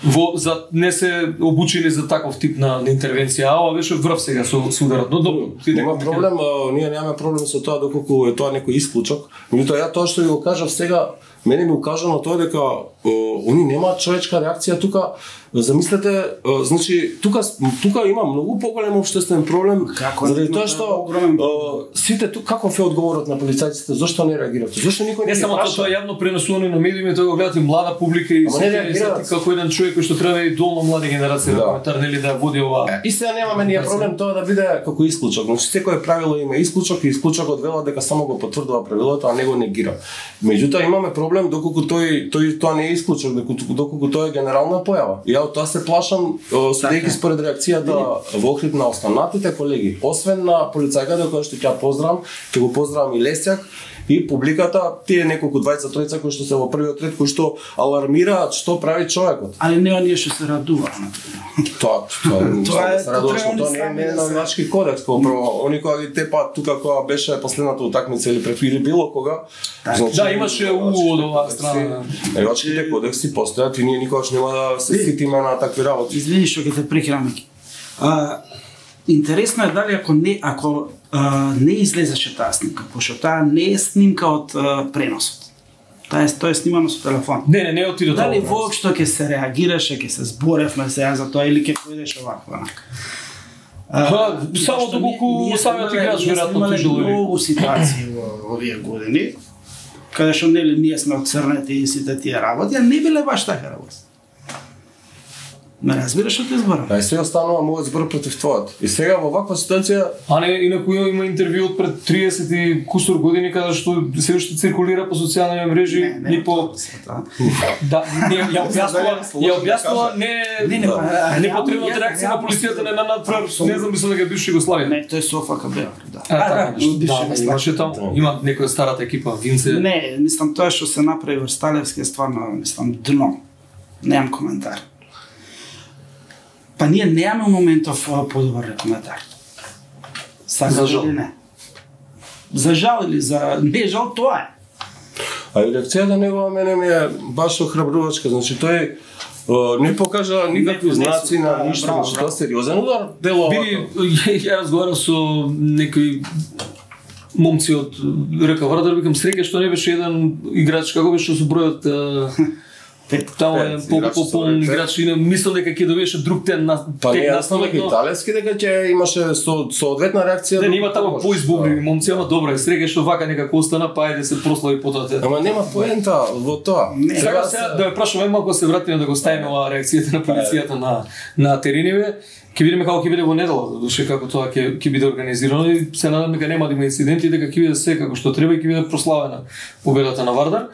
Во за не се обучени за таков тип на, на интервенција, а ова беше врв сега со, со ударот. Но добро, нема проблем, а, ние немаме проблем со тоа доколку е тоа некој исклучок. Меѓутоа ја тоа што ви го кажав сега, мене ми укажано тоа дека они немаат човечка реакција тука. Замислете, значи тука тука има многу поголем општествен проблем заради тоа што сите тука каков е одговорот на полицајците, зошто не реагираат? Зошто никој не Не само тоа е јавно пренесувано на медиуми, тоа го гледате млада публика и сите како еден човек кој што треба и долно млада генерација да коментар нели да води ова. И сега немаме ние проблем тоа да биде како исклучок. Значи секое правило има исклучок и исклучокот вела дека само го потврдува правилото, а не го негира. Меѓутоа имаме проблем доколку тој тој тоа не е исклучок, доколку тоа е генерална појава. И ја од тоа се плашам, следејќи според реакцијата во охрид на останатите колеги, освен на полицајката која што ќе поздравам, ќе го поздравам и Лесјак и публиката, тие неколку двајца тројца кои што се во првиот ред, кои што алармираат што прави човекот. Али не оние што се радуваат на тоа. Тоа е, се радуваш, тоа не е навички кодекс, прво они кога ги тепаат тука кога беше последната утакмица или пред или било кога. Да, имаше у од оваа страна. Навичките кодекси постојат и ние никогаш нема да се ситиме на такви работи. Извини што ќе те прекинам. А интересно е дали ако не ако а, не излезеше таа снимка, пошто таа не е снимка од а, преносот. Таа е тоа е снимано со телефон. Не, не, не отиде тоа. Дали воопшто ќе се реагираше, ќе се зборевме сега за тоа или ќе појдеш овако онака. А, само доколку самиот играч веројатно тужил или многу ситуации во овие години каде што нели ние сме оцрнети и сите тие работи, а не биле баш така работи. Ме разбираш што те зборам? Да, и сега станува мојот збор против твојот. И сега во ваква ситуација, а не инаку има интервју од пред триесет и кусур години каде што се уште циркулира по социјални мрежи и по да, не ја објаснува, ја објаснува не не не не потребната реакција на полицијата на надпревар, не знам мислам дека бивша Југославија. Не, тој со ФК Б, да. А, така, да, имаше таму, има некоја старата екипа, Винце. Не, мислам тоа што се направи во Сталевски е стварно, мислам, дно. Немам коментар. Па ние немаме моментов подобар коментар. За жал или не? За жал или за не жал, тоа е. А и реакцијата негова мене ми е баш охрабрувачка, значи тој не покажа никакви знаци на ништо, значи тоа сериозен удар дело. Биди, ја разговарав со некои момци од Река Вардар, викам среќа што не беше еден играч, како беше со бројот таму е по-полн играч и мислам дека ќе довеше друг тен на тек наставник италијски дека ќе имаше со соодветна реакција. Не, има таму поизбубни момци, ама добро е, среќа што вака некако остана, па ајде се прослави потоа. Ама нема поента во тоа. Сега сега да ја прашуваме малку се вратиме да го ставиме оваа реакцијата на полицијата на на терениве. Ќе видиме како ќе биде во недела, душе како тоа ќе ќе биде организирано и се надам дека нема да има инциденти, дека ќе биде се како што треба и ќе биде прославена победата на Вардар.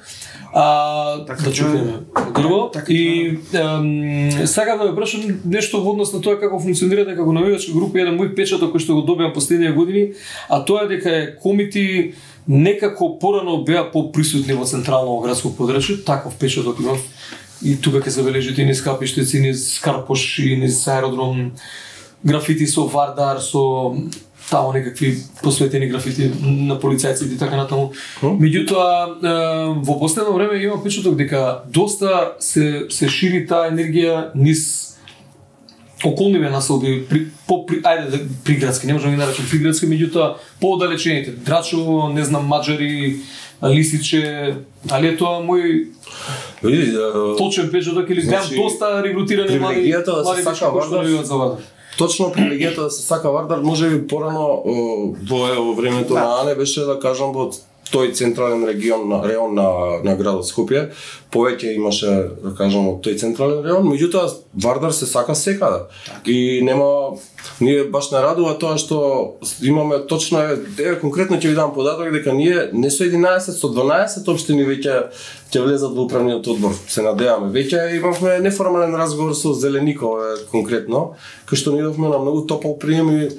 А, така, да чукнеме дрво и ем, сакам да ве прашам нешто во однос на тоа како функционирате како навивачка група, еден мој печаток кој што го добивам последниве години, а тоа е дека е комити некако порано беа поприсутни во централно градско подрачје, таков печаток имам и тука ќе забележите низ капиштици, низ Карпош, низ аеродром, графити со Вардар, со таму некакви посветени графити на полицајците и така натаму. Меѓутоа, во последно време има печаток дека доста се се шири таа енергија низ околниве населби, при, по, при, ајде приградски, не можам да ги наречам приградски, меѓутоа поодалечените, Драчово, не знам, Маџари, Лисиче, дали е тоа мој точен печаток или гледам доста регрутирани млади млади кои што навиваат за Вардар. Точно привилегијата да се сака Вардар, може би порано во, во времето да. на Ане беше да кажам во тој централен регион на реон на на градот Скопје, повеќе имаше да кажам од тој централен реон, меѓутоа Вардар се сака секаде. Так. И нема ние баш не радува тоа што имаме точно е конкретно ќе ви дам податок дека ние не со единаесет, со дванаесет општини веќе ќе влезат во управниот одбор. Се надеваме. Веќе имавме неформален разговор со Зелеников конкретно, кај што ни идовме на многу топол прием и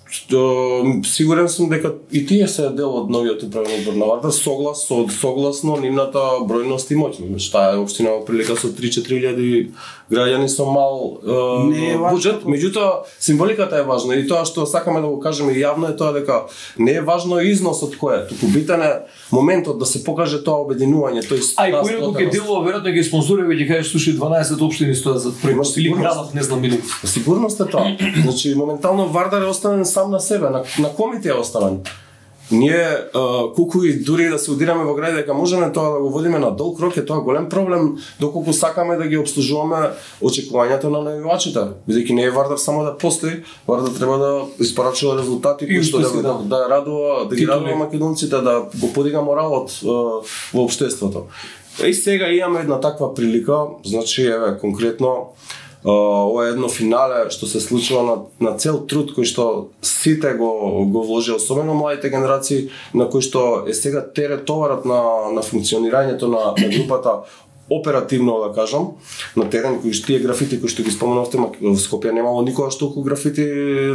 што сигурен сум дека и тие се дел од новиот управен одбор на Вардар, соглас со согласно нивната бројност и моќ. Таа е општина во прилика со три-четири илјади граѓани со мал е, буџет, меѓутоа символиката е важна и тоа што сакаме да го кажеме јавно е тоа дека не е важно износот кој е, туку битен е моментот да се покаже тоа обединување, тој А и кој го ќе делува веројатно ги спонзорира веќе кажеш слушај дванаесет општини стојат за проект или градот не знам или. Сигурност е тоа. Значи моментално Вардар е оставен сам на себе, на, на комите е оставен. ние uh, колку и дури да се удираме во гради дека можеме тоа да го водиме на долг рок, е тоа голем проблем доколку сакаме да ги обслужуваме очекувањата на најавачите. Бидејќи не е Вардар само да постои, Вардар треба да испорачува резултати кои што да, да, да радува, да ги радува македонците, да го подига моралот uh, во општеството. И сега имаме една таква прилика, значи еве конкретно Uh, ова е едно финале што се случува на, на цел труд кој што сите го, го вложи, особено младите генерации, на кои што е сега терет товарот на, на функционирањето на, на групата оперативно, да кажам, на терен, кои што тие графити кои што ги споменавте, в Скопје немало никогаш толку графити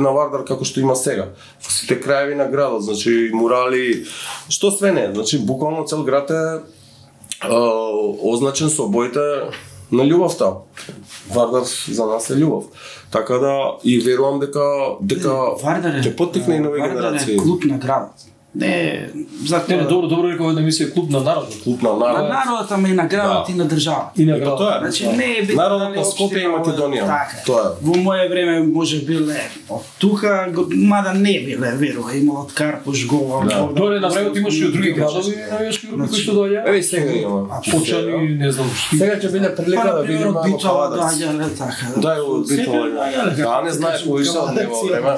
на Вардар како што има сега. Во сите краеви на градот, значи мурали, што све не, значи буквално цел град е uh, означен со боите на љубовта. Вардар за нас е љубов. Така да и верувам дека дека ќе поттикне и нови генерации. Вардар е клуб на градот. Не, за Не, не, добро, добро рекол една емисија клуб на народот. Клуб на на народот. народот, ама и на градот Да. и на државата. И на И па градот. тоа е. Значи не е битно Народот дали на Скопје и општина, Македонија. така е. Тоа е. Во моје време може биле од тука, го- мада не биле, верува, имало од Карпуш, Гол, Да. Богдан. Доре на времето имаше и од други градови навијачки групи кои што доаѓаа. Еве и сега има. Почани, не знам што. Сега ќе биде прилика да видиме од во Битола Кавадарци. доаѓале така. Да, и од Битола. Да, не знаеш кој што од него време.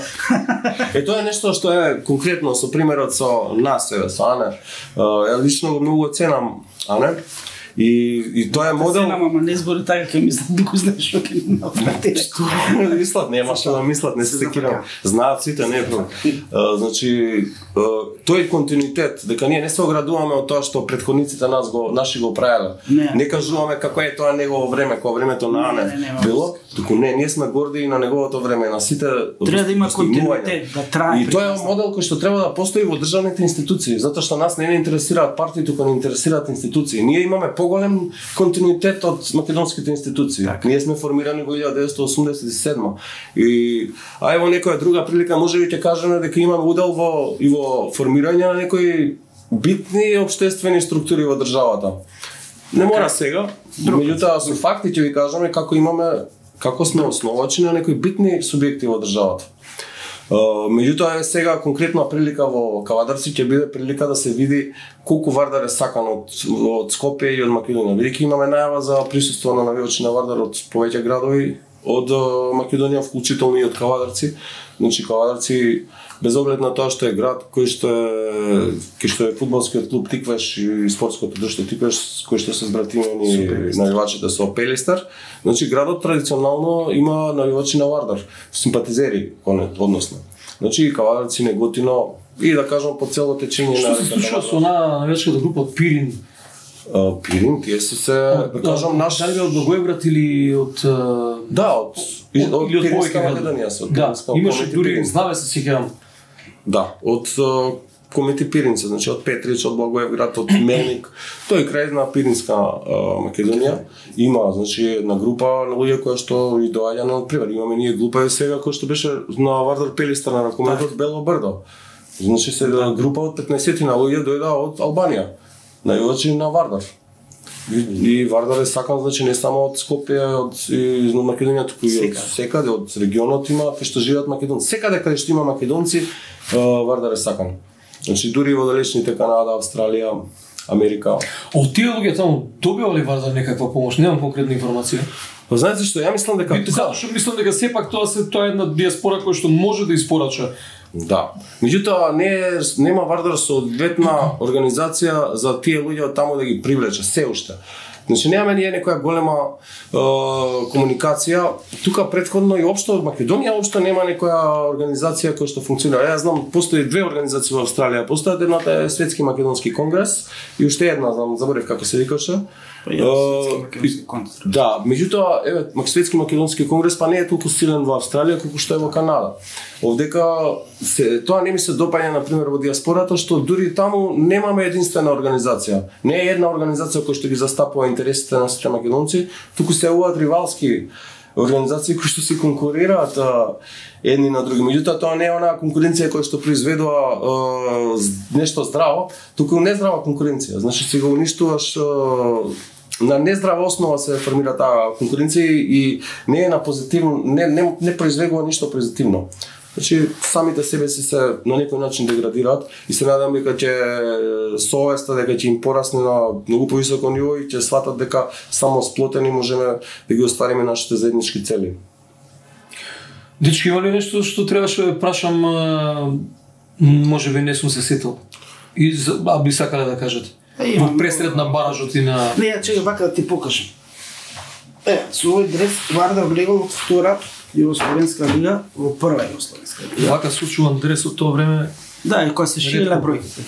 Е тоа е нешто што е конкретно со примерот со нас, еве, со Ане. Ја лично го многу ценам Ане. И и тоа е модел. Ценам, ама не збори така, ќе мислам да го знаеш што ќе направи. Мислат, нема што да мислат, не се секирам. Знаат сите, не е проблем. А, значи, а, тој континуитет, дека ние не се оградуваме од тоа што претходниците нас го наши го правеле. Не. Не кажуваме како е тоа негово време, кога времето на Не, Ане не, нема било, туку не, ние сме горди и на неговото време, на сите Треба да има достигнувања. континуитет, да трае. И тоа е модел кој што треба да постои во државните институции, затоа што нас не не интересираат партии, туку не интересираат институции. Ние имаме поголем континуитет од македонските институции. Така. Ние сме формирани во илјада деветстотини осумдесет и седма. И а ево некоја друга прилика можеби ќе кажеме дека имаме удел во и во формирање на некои битни општествени структури во државата. Не мора сега, меѓутоа со факти ќе ви кажеме како имаме како сме основачи на некои битни субјекти во државата. Uh, меѓутоа е сега конкретна прилика во Кавадарци ќе биде прилика да се види колку Вардар е сакан од од Скопје и од Македонија. Бидејќи имаме најава за присуство на навијачи на Вардар од повеќе градови од uh, Македонија, вклучително и од Кавадарци. Значи Кавадарци без оглед на тоа што е град кој што е кој што е фудбалскиот клуб Тиквеш и спортското друштво Тиквеш, кој што се збратимени навивачите со Пелистер, значи градот традиционално има навивачи на Вардар, симпатизери односно. Значи Кавадарци, Неготино и да кажам по цело течење Што на се случува со онаа навијачката група од Пирин? Uh, Пирин, тие се се, да кажам, наш... Дали од Благоевград или од... Да, од... Од- од или од Пиринска повеќе Македонија се. од Да, Пиринска- имаше Комети дури Пирин. знаме се сеќавам. Да, од uh, Комети Пиринца, значи од Петрич, од Благоевград, од Мелник, тој крај на Пиринска uh, Македонија има, значи една група на луѓе која што и доаѓа на пример. Имаме ние група и сега која што беше на Вардар Пелистер на ракометот Бело Брдо. Значи се група од петнаесет на луѓе дојда од Албанија, највачи на Вардар. И, и Вардар е сакан, значи не само од Скопје, од и, на Македонија, туку и од секаде, од регионот има, кај што живеат македонци. Секаде каде што има македонци, Вардар е сакан. Значи дури и во далечните Канада, Австралија, Америка. Од тие луѓе таму добива ли Вардар некаква помош? Немам конкретна информација. Па знаете што, ја мислам дека Бите, затоа што мислам дека сепак тоа се тоа е една диаспора која што може да испорача. да. Меѓутоа не е- нема Вардар соодветна организација за тие луѓе од таму да ги привлече се уште. Значи немаме ние некоја голема е, комуникација. Тука претходно и општо од Македонија општо нема некоја организација која што функционира. Ја знам, постои две организации во Австралија. Постојат едната е Светски македонски конгрес и уште една, знам, заборев како се викаше. Е, и- Да, меѓутоа, еве, Светски македонски конгрес па не е толку силен во Австралија колку што е во Канада. Овдека се, тоа не ми се допаѓа на пример во диаспората што дури таму немаме единствена организација. Не е една организација која што ги застапува интересите на сите македонци, туку се јавуваат ривалски организации кои што се конкурираат а, едни на други. Меѓутоа тоа не е онаа конкуренција која што произведува а, з- нешто здраво, туку нездрава конкуренција. Значи си го уништуваш а, на нездрава основа се формира таа конкуренција и не е на позитивно, не не не произведува ништо позитивно. Значи самите себе си се на некој начин деградираат и се надам дека ќе совеста дека ќе им порасне на многу повисоко ниво и ќе сватат дека само сплотени можеме да ги оствариме нашите заеднички цели. Дечки, има ли нешто што требаше да прашам, може би не сум се сетил? И а би сакале да кажете? Е, во пресред на баражот и на... Не, чекай, вака да ти покажам. Е, со овој дрес Вардар влегол од втора Југословенска лига во прва Југословенска лига. Вака случуван дрес од тоа време... Да, и кога се ширила бројките.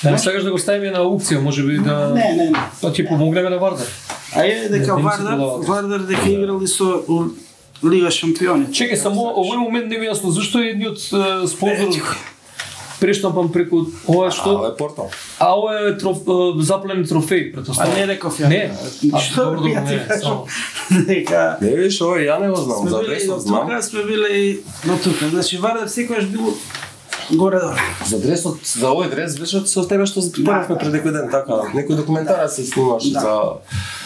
Да не сакаш да го ставиме на аукција, може би да... Не, не, не. Па ќе помогнеме на Вардар. А е дека Вардар, Вардар дека играли со Лига шампиони. Чекај, само овој момент не ми јасно, зашто е едниот спонзор прештампан преку ова што... А, ова е портал. А ова е троф, заплен трофеј, А претоставам. не реков ја. Не, а Што добро, ја ти не, кажам? само. Дека Не виж, ова ја не го знам, сме за били адресот до знам. тука, сме били и до тука. Значи Вардар секогаш бил горе-долу. За адресот, за овој адрес беше со тебе што зборавме пред некој ден, така. Некој документарец се снимаше Да. за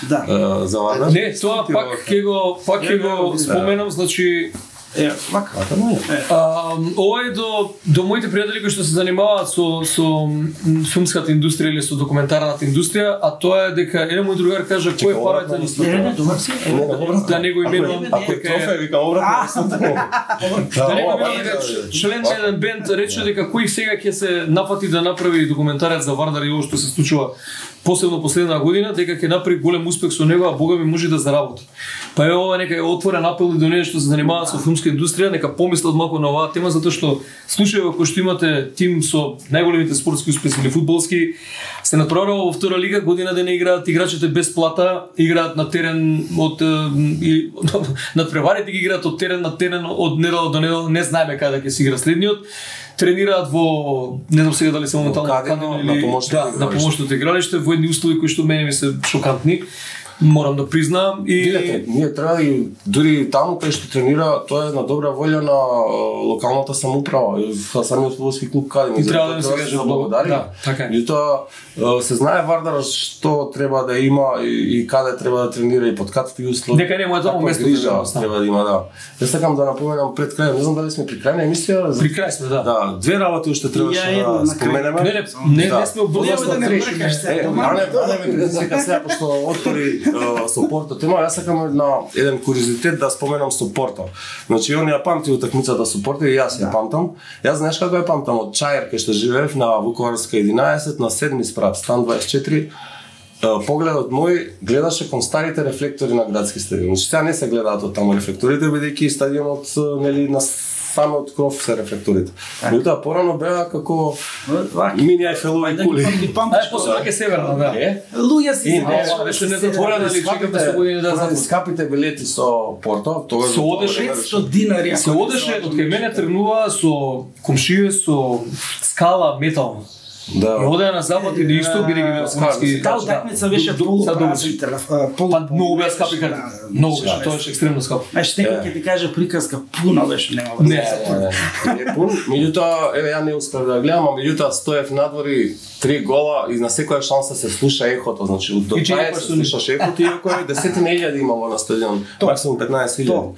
Да. е, за Вардар. Не, тоа пак ќе го пак ќе го споменам, значи Е, вака. Така не е. А, ова е до, до моите пријатели кои што се занимаваат со, со м, филмската индустрија или со документарната индустрија, а тоа е дека еден мој другар кажа кој е парата ни Не, не, не, добар си. Не, не, добро. да не го именувам Ако е трофеј, викам обратно. да не го именувам дека член на еден бенд рече дека кој сега ќе се напати да направи документарец за Вардар и ово што се случува посебно последна година, дека ќе направи голем успех со него, а Бога ми може да заработи. Па е ова нека е отворен апел и до оние што се занимаваат со филмска индустрија, нека помислат малку на оваа тема, затоа што случајот кој што имате тим со најголемите спортски успеси или фудбалски, се натпреварува во втора лига, година ден играат играчите без плата, играат на терен од и надпреварите ги играат од терен на терен, од недела до недела, не знаеме каде ќе се игра следниот. Тренираат во, не знам сега дали се моментално Кадино, на помошното да, на помошното игралиште, во едни услови кои што мене ми се шокантни. Морам да признаам и Видете, ние треба и дури таму кај што тренира, тоа е на добра волја на е, локалната самоуправа, и самиот фудбалски клуб Кадино. И треба да им се каже благодари. да, така е. И тоа е, се знае Вардар што треба да има и, и каде треба да тренира и под какви услови. Дека нема таму Каква место грижа да има, треба да има, да. Јас сакам да напоменам пред крај, не знам дали сме при крај на емисија. При крај сме, да. Да, две работи уште требаше Ја една да на крај. споменеме. Не, не, не, Да. не сме обврзани Нема да не треш. бркаш се. Е, Дома, Ане, тоа Ане ме предизвика сега, пошто отвори е, со Порто тема, јас сакам една, еден куриозитет да споменам со Порто. Значи, он ја памти утакмицата со Порто и јас ја памтам. Јас знаеш како ја памтам, од Чајер, кај што живеев на Вуковарска единаесет, на седми спрат, стан дваесет и четири, погледот мој гледаше кон старите рефлектори на градски стадион. Значи, сега не се гледаат од таму рефлекторите, бидејќи стадионот нели на самиот кров се рефлекторите. Меѓутоа порано беа како мини Ајфелови кули. Ај, после ваќе северна, да. Е? Луѓе си И се не, дешава, беше се не се затворено, дешава. или чекаме со години да поради започне. скапите билети со Порто, тогаш Се одеше петстотини динари. Се одеше, од кај мене тргнува со комшије со скала метална. И Да. одеа на запад и на исток, бидејќи беа фудбалски. Таа утакмица беше полупразен телефон. Па многу беа скапи карти. Многу беше, тоа беше екстремно скапо. Знаеш, некој ќе ти каже приказка, пуно беше, нема Не, врска. Е пун, меѓутоа, еве ја не успев да гледам, а меѓутоа стоев надвори три гола и на секоја шанса се слуша ехото, значи од до И тај че се слушаше ехото, иако е десетина илјади имало на стадион, максимум петнаесет илјади.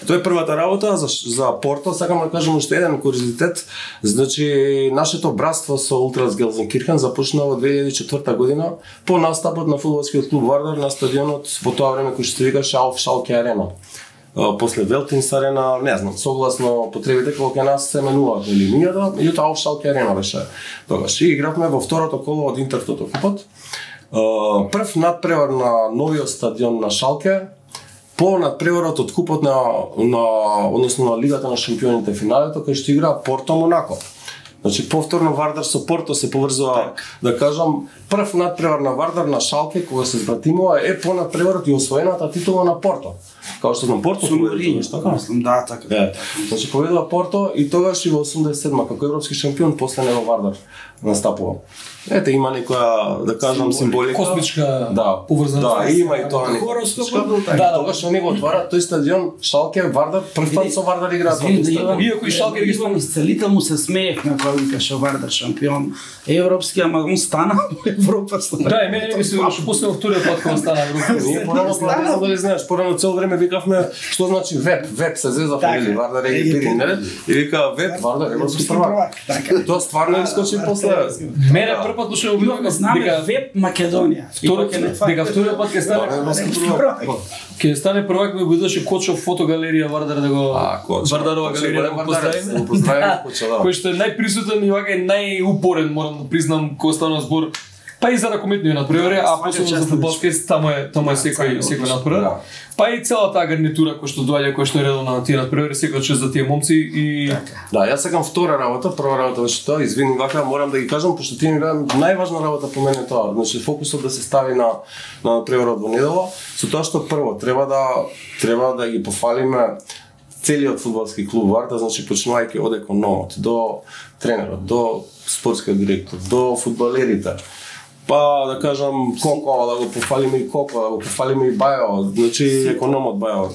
Тоа е првата работа за за Порто, сакам да кажам уште еден куриозитет. Значи нашето братство со Ултрас Гелзенкирхен започна во две илјади и четврта година по настапот на фудбалскиот клуб Вардар на стадионот во тоа време кој што се викаше Ауф Шалке Арена. Uh, после Велтинс арена, не знам, согласно потребите кога кај нас се менуваат или линијата, меѓутоа Ауф Шалке арена беше тогаш. И игравме во второто коло од Интертото купот. Uh, прв надпревар на новиот стадион на Шалке, по надпреварот од купот на, на односно на Лигата на шампионите финалето, кај што игра Порто Монако. Значи повторно Вардар со Порто се поврзува, да кажам, прв надпревар на Вардар на Шалке кога се збратимува е по надпреварот и освоената титула на Порто. Као што на Порто Суморинјо, така? мислам, да, така. Е, значи победува Порто и тогаш и во осумдесет и седма како европски шампион после него Вардар настапува. Ете има некоја, да кажам, символика. Космичка да, поврзаност. Да, има и тоа некоја. Хороскопот бил така. Да, тогаш они го отварат тој стадион Шалке Вардар, прв пат со Вардар играат. Извини, да Иван, Иако и Шалке ги Иван Исцелител му се смеев на Вардар, викаше Вардар шампион европски, ама он стана во Европа. Да, и мене ми се беше пуснал вториот пат кога стана Европа. Ние порано порано дали знаеш, порано цело време викавме што значи веб, веб се зеза фамилија, Вардар е пири, не? И вика веб, Вардар европски првак. Тоа стварно искочи после. Мене прв пат дошол видов дека веб Македонија. Вториот дека вториот пат ќе стане ќе стане првак, ми бидеше Кочов фотогалерија Вардар да го Вардарова галерија да го поздравиме. Кој што е најприсутен и вака е најупорен, морам да признам, кога стана збор. Па и за ракометни надпревари, а после за фудбалски таму е таму е секој секој надпревар. Па и целата таа гарнитура која што доаѓа, која што е редовна на тие надпревари, секој чест за тие момци и да, јас сакам втора работа, прва работа беше тоа, извини вака, морам да ги кажам пошто ти ми беа најважна работа по мене тоа, значи фокусот да се стави на на надпреварот во недела, со тоа што прво треба да треба да ги пофалиме целиот фудбалски клуб Вардар, значи почнувајќи од економот до тренерот, до спортскиот директор, до фудбалерите. Па да кажам Коко, да го пофалиме и Коко, да го пофалиме и Бајо, значи економот Бајо.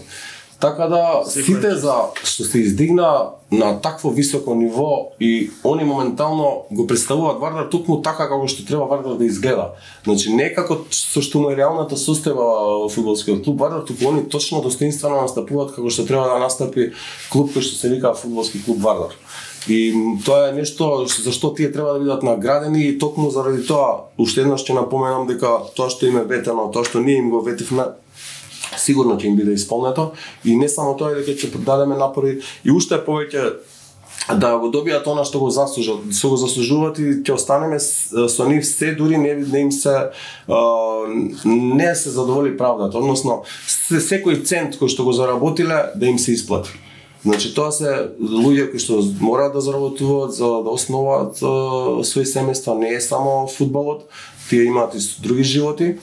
Така да сите за што се издигна на такво високо ниво и они моментално го представуваат Вардар токму така како што треба Вардар да изгледа. Значи не како со што му е реалната состојба во фудбалскиот клуб Вардар, туку они точно достоинствено настапуваат како што треба да настапи клуб кој што се вика фудбалски клуб Вардар. И тоа е нешто за што тие треба да бидат наградени и токму заради тоа уште еднаш ќе напоменам дека тоа што им е ветено, тоа што ние им го ветивме, сигурно ќе им биде исполнето и не само тоа дека ќе дадеме напори и уште повеќе да го добијат она што го заслужат, што го заслужуваат и ќе останеме со нив се дури не, не им се а, не се задоволи правдата, односно секој цент кој што го заработиле да им се исплати. Значи тоа се луѓе кои што мораат да заработуваат за да основаат своји семејства, не е само фудбалот, тие имаат и други животи.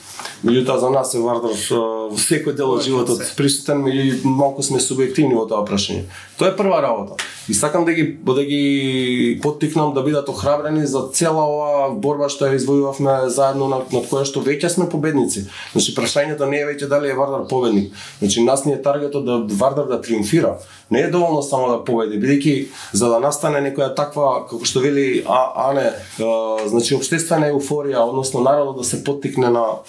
Меѓутоа за нас е Вардар во секој дел од животот присутен, меѓу малку сме субјективни во тоа прашање. Тоа е прва работа. И сакам да ги да ги поттикнам да бидат охрабрени за цела оваа борба што ја извојувавме заедно над, над која што веќе сме победници. Значи прашањето не е веќе дали е Вардар победник. Значи нас ни е таргетот да Вардар да триумфира. Не е доволно само да победи, бидејќи за да настане некоја таква како што вели а, Ане, а, значи општествена еуфорија, односно народот да се поттикне на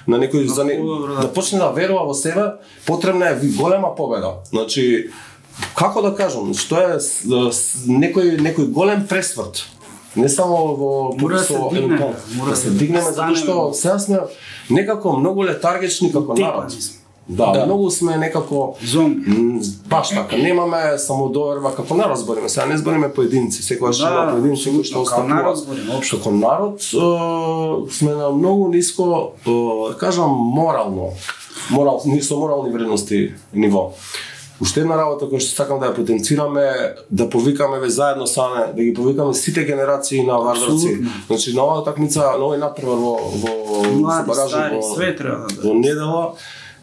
на некој за не, да почне да верува во себе, потребна е голема победа. Значи како да кажам, што е некој некој голем пресврт. Не само во мора се дигнеме, да се дигнеме затоа што сега сме некако многу летаргични како народ. Да, да, многу сме некако зомби. Баш така, немаме самодоверба како народ збориме. Сега не збориме поединци, секогаш има да, поединци кои што остапуваат. Општо како народ е, сме на многу ниско, е, да кажам морално, морал, ниско морални вредности ниво. Уште една работа која што сакам да ја потенцираме, да повикаме ве заедно саме, да ги повикаме сите генерации на вардарци. Значи на оваа такмица, на овој надпревар во во баражот во, во недела,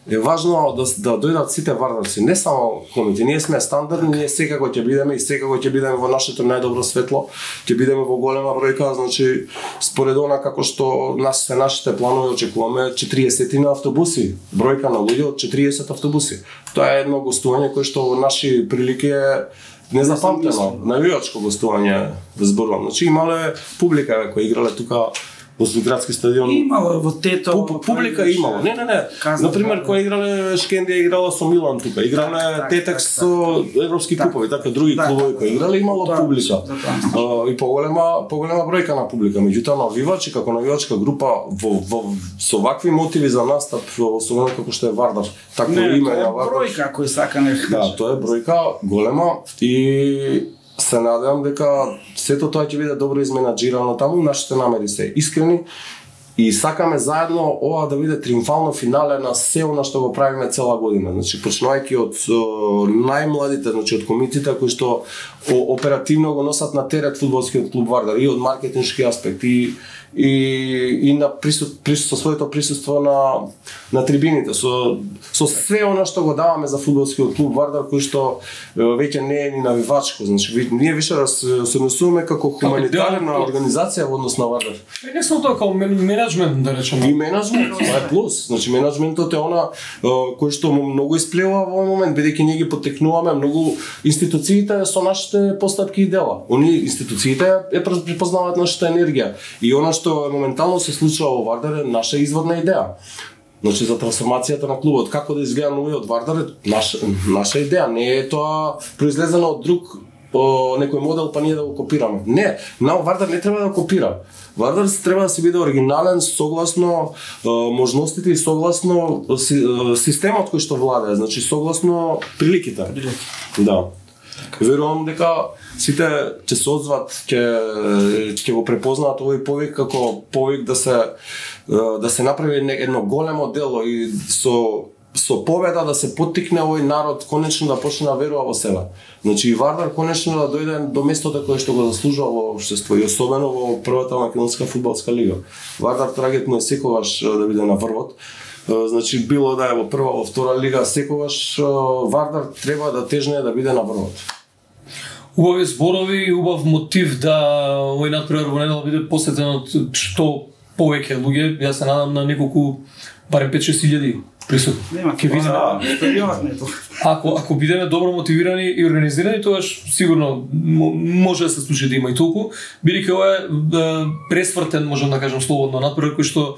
е важно да, да дојдат сите вардарци, не само комити. Ние сме стандардни, ние секако ќе бидеме и секако ќе бидеме во нашето најдобро светло, ќе бидеме во голема бројка, значи според она како што нас се нашите планови очекуваме четириесет на автобуси, бројка на луѓе од четириесет автобуси. Тоа е едно гостување кое што во наши прилики е незапамтено, навивачко гостување да зборувам. Значи имале публика која играле тука во градски стадион. Имало во Тето. Пу, публика имало. Не, не, не. На пример, кога играле Шкендија играла со Милан тука, играле да, Тетекс со европски так, купови, така други так, клубови кои играле имало да, публика. Да, и поголема поголема бројка на публика. Меѓутоа навивачи како навивачка група во, во со вакви мотиви за настап во особено како што е Вардар. Така име на Вардар. Бројка кој сака не. Да, тоа е бројка голема и се надевам дека сето тоа ќе биде добро изменаџирано таму, нашите намери се искрени и сакаме заедно ова да биде триумфално финале на се она што го правиме цела година. Значи почнувајќи од најмладите, значи од комитите кои што оперативно го носат на терет фудбалскиот клуб Вардар и од маркетиншки аспект и и и на присут, присут со своето присуство на на трибините, со со све она што го даваме за фудбалскиот клуб Вардар кој што веќе не е ни навивачко, значи ние више да се однесуваме како хуманитарна организација во однос на Вардар. Не само тоа, како мене менеджмент, да речеме. И менеджмент, тоа е плюс. Значи менеджментот е она кој што многу исплеува во овој момент, бидејќи ние ги потекнуваме многу институциите со нашите постапки и дела. Они институциите е препознаваат нашата енергија и она што моментално се случува во Вардар е наша изворна идеја. Значи за трансформацијата на клубот, како да изгледа новиот Вардар е наша, наша идеја, не е тоа произлезено од друг о, некој модел па ние да го копираме. Не, на Вардар не треба да копира. Вардар треба да се биде оригинален согласно е, можностите и согласно си, е, системот кој што владее, значи согласно приликите. Да. Верувам дека сите ќе се озват, ќе ќе го препознаат овој повик како повик да се да се направи едно големо дело и со со победа да се поттикне овој народ конечно да почне да верува во себе. Значи и Вардар конечно да дојде до местото кое што го заслужува во општество и особено во првата македонска фудбалска лига. Вардар трагетно е секогаш да биде на врвот. Значи било да е во прва, во втора лига, секогаш Вардар треба да тежне да биде на врвот. Убави зборови и убав мотив да овој надпревар во недела биде посетен од што повеќе луѓе. Јас се надам на неколку, барем пет-шест илјади присутни. Нема ќе видиме. Ако ако бидеме добро мотивирани и организирани, тогаш сигурно може да се случи да има и толку, бидејќи ова е пресвртен, можам да кажам слободно надпревар кој што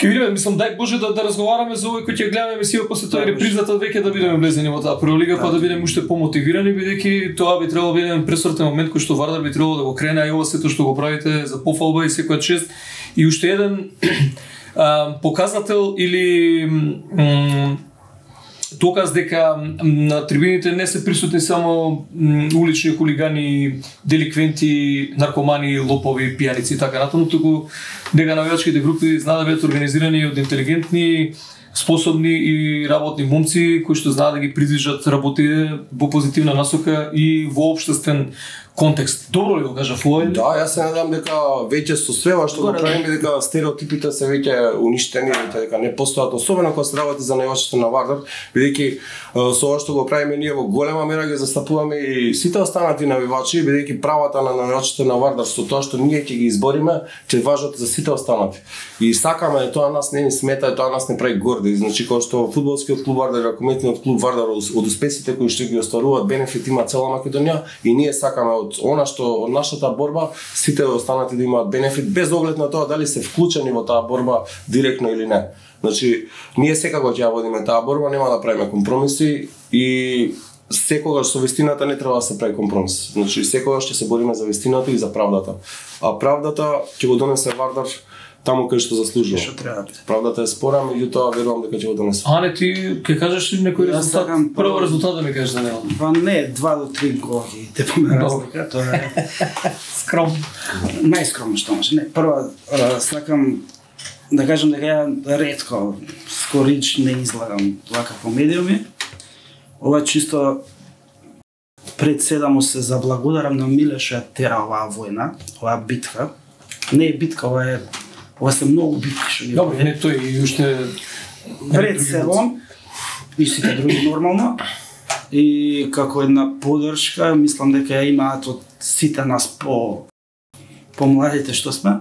ќе видиме, мислам, дај Боже да, да разговараме за овој кој ќе гледаме емисија после тоа репризата веќе да бидеме влезени во таа прва лига, па да бидеме уште помотивирани, бидејќи тоа би требало да биде еден пресвртен момент кој што Вардар би требало да го крене, а и ова сето што го правите за пофалба и секоја чест. И уште еден а, показател или м, доказ дека на трибините не се присутни само м, улични хулигани, деликвенти, наркомани, лопови, пијаници и така натаму, туку дека навијачките групи знаат да бидат организирани од интелигентни, способни и работни момци кои што знаат да ги придвижат работите во позитивна насока и во општествен контекст. Добро ли го кажав овој? Да, јас се надам дека веќе со свева што го правиме дека стереотипите се веќе уништени, дека не постојат, особено кога се работи за највачите на Вардар, бидејќи со ова што го правиме ние во голема мера ги застапуваме и сите останати навивачи, бидејќи правата на навивачите на Вардар со тоа што ние ќе ги избориме, ќе важат за сите останати. И сакаме тоа нас не ни смета, тоа нас не прави горди. Значи кога што фудбалскиот клуб Вардар, ракометниот клуб Вардар од успесите кои што ги остваруваат бенефит има цела Македонија и ние сакаме од она што од нашата борба сите останати да имаат бенефит без оглед на тоа дали се вклучени во таа борба директно или не. Значи ние секако ќе ја водиме таа борба, нема да правиме компромиси и секогаш со вистината не треба да се прави компромис. Значи секогаш ќе се бориме за вистината и за правдата. А правдата ќе го донесе Вардар таму кај што заслужува. Што треба да биде. Правдата е спора, меѓутоа верувам дека ќе го донесе. А не ти ќе кажеш некој резултат? Прво резултат да ми кажеш за него. Па не, два до три голи те поме разлика, тоа е скромно. Најскромно што може. Не, прво сакам да кажам дека ја ретко скорич не излагам вака по медиуми. Ова чисто пред се да му се заблагодарам на Миле што ја тера оваа војна, оваа битка. Не е битка, ова е ова се многу битки што ги. Добро, не тој и уште пред се он и сите други нормално. И како една поддршка, мислам дека ја имаат од сите нас по по младите што сме.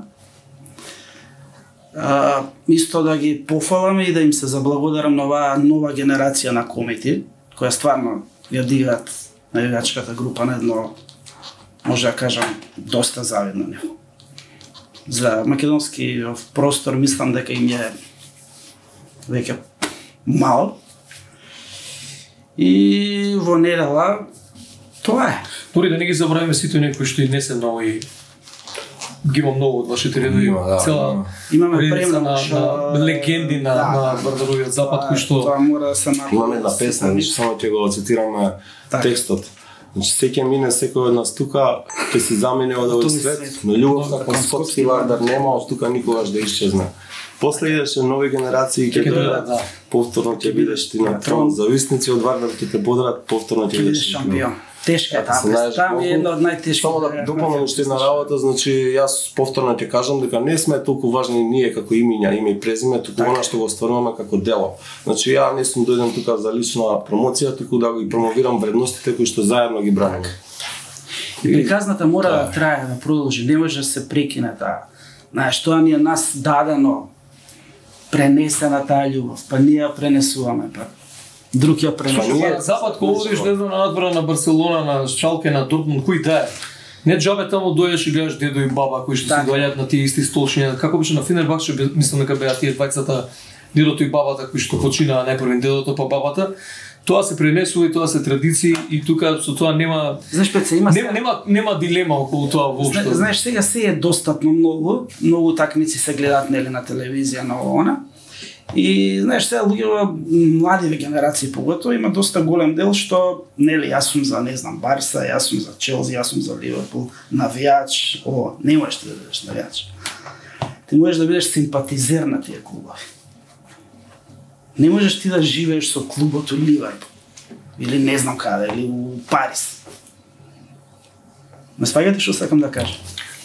А, исто да ги пофалам и да им се заблагодарам на оваа нова генерација на комети, која стварно ја дигаат навигачката група на едно, може да кажам, доста завидно ниво. За македонски простор мислам дека им е веќе мал. И во недела тоа е. Дори да не ги забравиме сите некои што и не се нови, ги има многу од вашите редови, Има, да, цела Имаме редица на, премногу на легенди на, да, на Вардаровиот запад кои што тоа мора да се направи. Имаме една песна, значи само ќе го цитираме Так. текстот. Значи секој мине секој од нас тука ќе се замине од овој Тој свет, свет. но љубовта Кон кон Скопски Вардар нема од тука никогаш да исчезне. После идеше нови генерации ќе Ќе дојдат, да. повторно ќе бидеш ти на трон, зависници од Вардар ќе те подрат, повторно ќе Ќе бидеш бидеш шампион. Тешка е Ако се таа најдеш представа, е колку- една од најтешките. Само да дополнам уште една работа, значи јас повторно ќе кажам дека не сме толку важни ние како имиња, име и презиме, туку она што го остваруваме како дело. Значи ја не сум дојден тука за лична промоција, туку да ги промовирам вредностите кои што заедно ги браниме. И приказната мора да трае, да продолжи, не може да се прекине таа Знаеш, тоа ни е нас дадено, пренесена таа љубов, па ние ја пренесуваме, па друг ја пренесува. Па запад кога одиш, не знам, на надвора на Барселона, на Шалке, на Дортмунд, кој да е? Не џабе таму дојдеш и гледаш дедо и баба кои што се доаѓаат на тие исти столшиња. Како беше на Фенербахче, мислам дека беа тие двајцата, дедото и бабата кои што починаа најпрвен, дедото па бабата. Тоа се пренесува и тоа се традиции и тука со тоа нема Знаеш, Пеце, има нема, нема нема дилема околу тоа воопшто. Зна, знаеш, сега се е достапно многу, многу такмици се гледаат нели на телевизија, на она. И знаеш, сега луѓето, младиве генерации поготово, има доста голем дел што нели јас сум за, не знам, Барса, јас сум за Челси, јас сум за Ливерпул, навијач, о, не можеш да бидеш навијач. Ти можеш да бидеш симпатизер на тие клубови. Не можеш ти да живееш со клубот у Ливерпул или не знам каде, или у Париз. Ме сваѓате што сакам да кажам?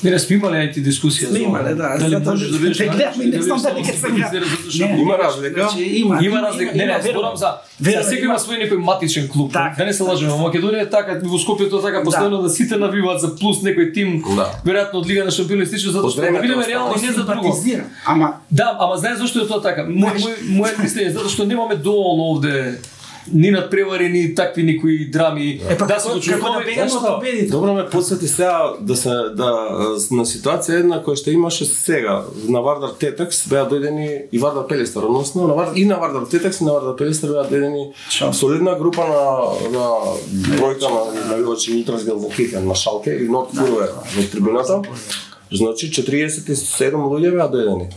Не, не сме имале ајти дискусија. Сме имале, да. Дали можеш да бидеш навијач? Не знам дали ќе се кажа. Има разлика. Има, има разлика. Не, не, зборам за секој има свој некој матичен клуб. Да не се лажеме, во Македонија е така, во Скопје тоа така постојано да сите навиваат за плюс некој тим, веројатно од Лига на шампиони стичи затоа што да бидеме реални, не за друго. Ама да, ама знаеш зошто е тоа така? Мој мој мислење затоа што немаме доволно овде ни надпревари, ни такви никои драми. Е, па, да се очекуваме да бегаме од победите. Добро ме подсети сега да се да на ситуација една која што имаше сега на Вардар Тетекс беа дојдени и Вардар Пелестар, односно на Вардар и на Вардар Тетекс и на Вардар Пелестар беа дојдени солидна група на на бројка на навивачи ултразгел за Китен на Шалке и Норд Фурове во трибуната. Значи четириесет и седум луѓе беа дојдени.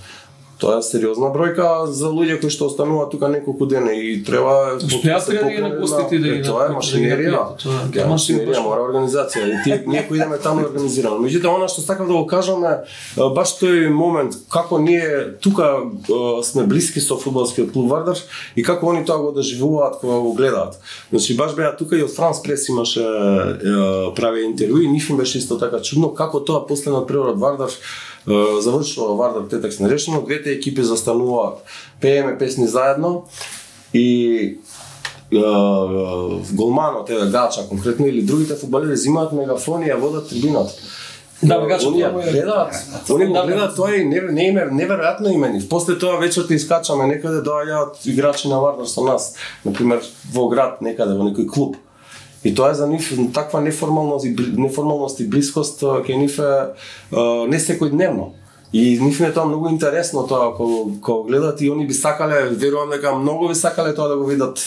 Тоа е сериозна бројка за луѓе кои што остануваат тука неколку дена и треба да се покаже на гостите да ги. Тоа е машинерија. Тоа е машинерија, мора организација. И тие ние кои идеме таму организирано. Меѓутоа она што сакам да го кажам е баш тој момент како ние тука сме блиски со фудбалскиот клуб Вардар и како они тоа го доживуваат кога го гледаат. Значи баш беа тука и од Франс Прес имаше прави интервјуи, нив им беше исто така чудно како тоа после надпреварот Вардар завршува Вардар Тетекс нерешено, двете екипи застануваат, пееме песни заедно и голманот, еве Гача конкретно или другите фудбалери взимаат мегафони и ја водат трибината. Да, Гача они ја гледаат, они го гледаат тоа и не не име неверојатно имени. После тоа вечерта искачаме некаде, доаѓаат играчи на Вардар со нас, на пример во град некаде во некој клуб. И тоа е за нив таква неформалност и неформалност и блискост кај нив е не секојдневно. И нив е тоа многу интересно тоа кога кога гледат и они би сакале, верувам дека многу би сакале тоа да го видат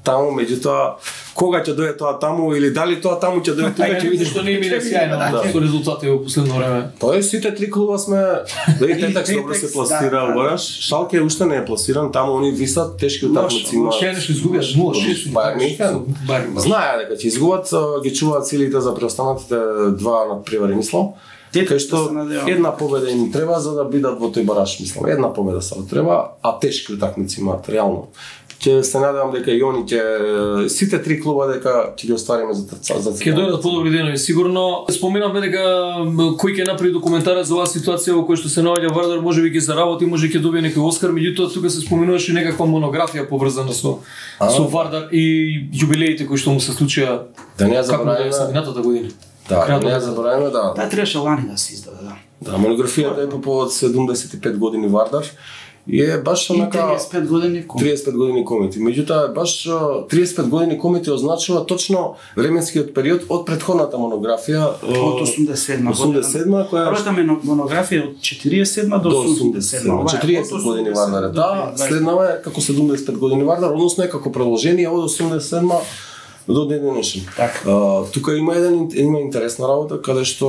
таму, меѓутоа кога ќе дое тоа таму или дали тоа таму ќе дое тука ќе видиш што не ми е сјајно со резултати во последно време. Тоа е сите три клуба сме да и Тетекс добро се пласира, бараш. Шалке уште не е пласиран, таму они висат тешки утакмици има. Ше нешто изгубија нула шест. Бајерн Мюнхен. Знае дека ќе изгубат, ги чуваат силите за преостанатите два надпревари, мислам. Кај што една победа им треба за да бидат во тој бараш, мислам. Една победа само треба, а тешки утакмици имаат реално. Ќе се надевам дека и они ќе сите три клуба дека ќе ги оствариме за за Ќе дојдат подобри денови сигурно. Споменавме дека кој ќе направи документарец за оваа ситуација во која што се наоѓа Вардар, можеби ќе заработи, може ќе добие некој Оскар, меѓутоа тука се споменуваше некаква монографија поврзана со а, со Вардар и јубилеите кои што му се случија. Да не ја забораваме минатата година. Да, не ја забораваме, да. Таа требаше лани да се издаде, да. Да, монографијата е по повод седумдесет и пет години Вардар и е баш онака триесет и пет години комети. триесет и пет години комети. Меѓутоа баш триесет и пет години комети означува точно временскиот период од претходната монографија од осумдесет и седма осумдесет и седма која првата монографија од четириесет и седма до осумдесет и седма. четириесет години Вардар. Да, следнава е како седумдесет и пет години Вардар, односно е како продолжение од осумдесет и седма до ден денешен. Uh, тука има еден има интересна работа каде што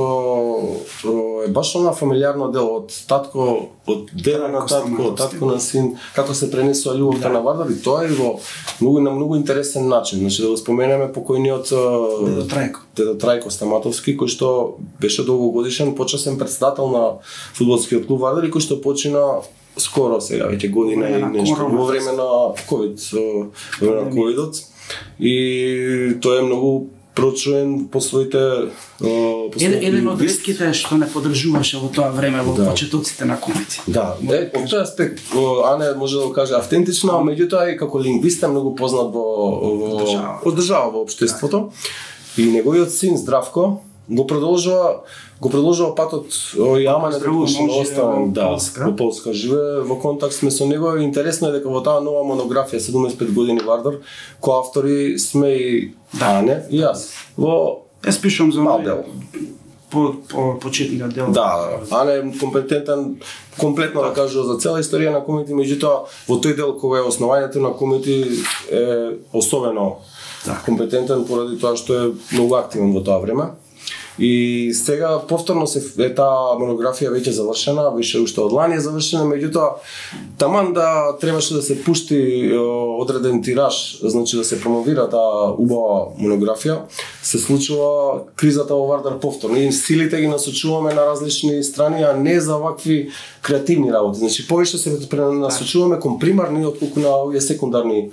е баш она фамилиарно дел од татко, од деда на татко, од татко на син, како се пренесува љубовта на Вардар и тоа е во многу на многу интересен начин. Значи да го споменеме покојниот Дедо Трајко. Дедо Трајко Стаматовски, кој што беше долгогодишен почасен претседател на фудбалскиот клуб Вардар и кој што почина скоро сега веќе година и нешто во време на ковид, во време на ковидот. И тој е многу прочуен по своите по своите еден од ретките што не поддржуваше во тоа време во да. Почетоците на комети. Да, е, од тој аспект Ане може да го каже автентично, меѓутоа и како лингвист е многу познат во во од држава во општеството. И неговиот син Здравко го продолжува го продолжува патот и ама не Поздравувам, оставам да Полска. во Полска живее, во контакт сме со него. Интересно е дека во таа нова монографија седумдесет и пет години Вардар, коавтори сме и Ане и јас. Во Јас пишувам за мал овој дел. по по почетниот дел. Да, Ане е компетентен комплетно да кажува за цела историја на комити, меѓутоа во тој дел кога е основањето на комити е особено Да. компетентен поради тоа што е многу активен во тоа време. И сега повторно се е таа монографија веќе завршена, више уште од лани е завршена, меѓутоа таман да требаше да се пушти е, одреден тираж, значи да се промовира таа убава монографија, се случува кризата во Вардар повторно. И силите ги насочуваме на различни страни, а не за вакви креативни работи. Значи повеќе се насочуваме кон примарни отколку на овие секундарни е,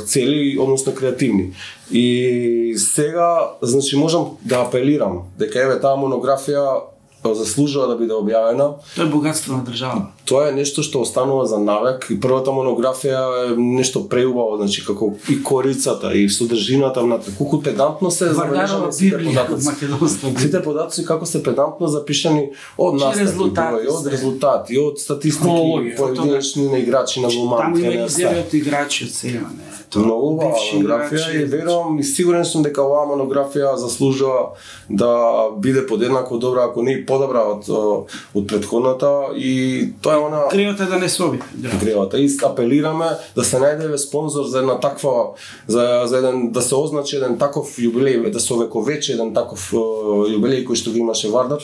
цели, односно креативни. И сега, значи, можам да апелирам дека еве таа монографија заслужува да биде објавена. Тоа е богатство на држава. Тоа е нешто што останува за навек и првата монографија е нешто преубаво, значи како и корицата и содржината внатре. Колку педантно се Вардарова забележани сите Библија од податоци. македонство. Сите податоци како се педантно запишани од настапи, резултати број, од се. резултати, од статистики, Хронологија. поединечни на играчи на Таму голман. има изјави од играчи од сега, не. Тоа Многу убава бивши монографија играчи, и верувам и сигурен сум дека оваа монографија заслужува да биде подеднако добра, ако не и подобра од од претходната, и тоа е она Кривата е да не се обиде. гревата. И апелираме да се најде спонзор за една таква за за еден да се означи еден таков јубилеј, да се овековечи еден таков е, јубилеј кој што го имаше Вардар.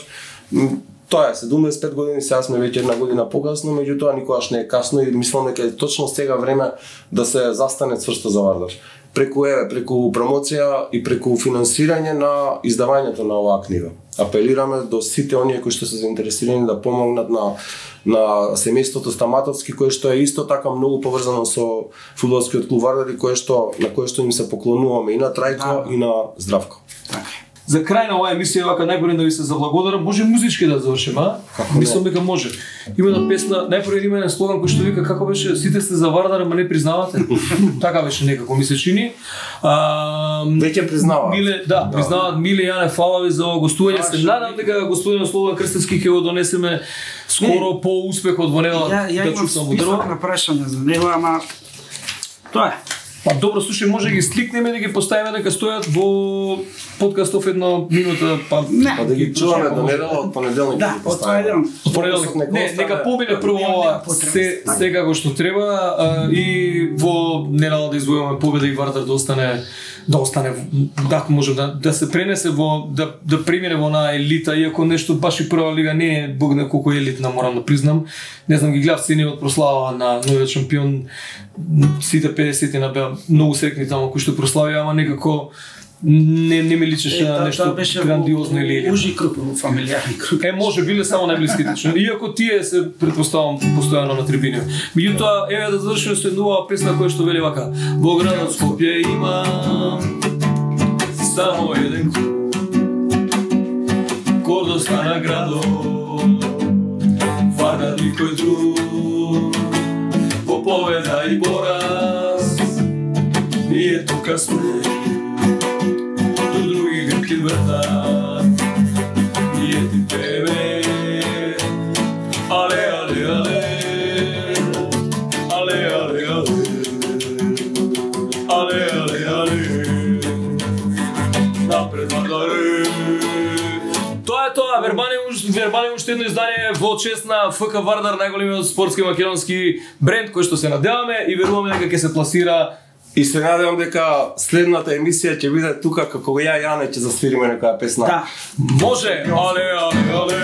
М, Тоа е седумдесет и пет години, сега сме веќе една година покасно, меѓутоа никогаш не е касно и мислам дека е точно сега време да се застане цврсто за Вардар. Преку еве, преку промоција и преку финансирање на издавањето на оваа книга. Апелираме до сите оние кои што се заинтересирани да помогнат на на семејството Стаматовски, кое што е исто така многу поврзано со фудбалскиот клуб Вардар и кое што на кое што им се поклонуваме и на Трајко Да. и на Здравко. Така. За крај на оваа емисија, вака најпрво да ви се заблагодарам, може музички да завршиме, а? Како не? Мислам дека може. Има една песна, најпрво има еден слоган кој што вика како беше сите сте за Вардар, ама не признавате. Така беше некако ми се чини. А, Веќе признаваат. Миле, да, Да. признаваат. Миле Јане, фала ви за ова гостување. А, Се што надам дека господин Слободан Крстевски ќе го донесеме скоро по успехот во недела Ја ја да имам чувствам во список дрво. на прашања за него, ама тоа е. Па добро, слушај, може да ги сликнеме да ги поставиме дека стојат во подкастов една минута, па Не. Па да ги чуваме до недела од понеделник. Да, од тоа е еден. Од понеделник. Не, нека помине прво Нема- ова нема потреба. се се како што треба, а, и во недела да извојуваме победа и Вардар да остане да остане да може да да се пренесе во да да премине во на елита, иако нешто баш и прва лига не е бог на колку елитна, морам да признам. Не знам, ги гледав синиот прослава на новиот шампион, сите педесети на беа многу срекни таму кои што прославија, ама некако не не ми личеше на нешто грандиозно или елитно. Ужи круг, во фамилијарни круг. Е, може, биле само најблиските член. Иако тие се претпоставам постојано на трибини. Меѓутоа, еве да завршиме со една нова песна која што вели вака: во градот Скопје има само еден клуб, гордост на градот, Вардар никој друг, во победа и пораз, ние тука сме, до други грки вртат, ние ти пееме, але, але, але, але, але, але, але, але, але, напред Вардаре. Тоа е тоа, вербани вербани уште едно издание во чест на ФК Вардар, најголемиот спортски македонски бренд кој што се надеваме и веруваме дека ќе се пласира. И се надевам дека следната емисија ќе биде тука како ја Јане ќе засвириме некоја песна. Да. Може, але, але, але.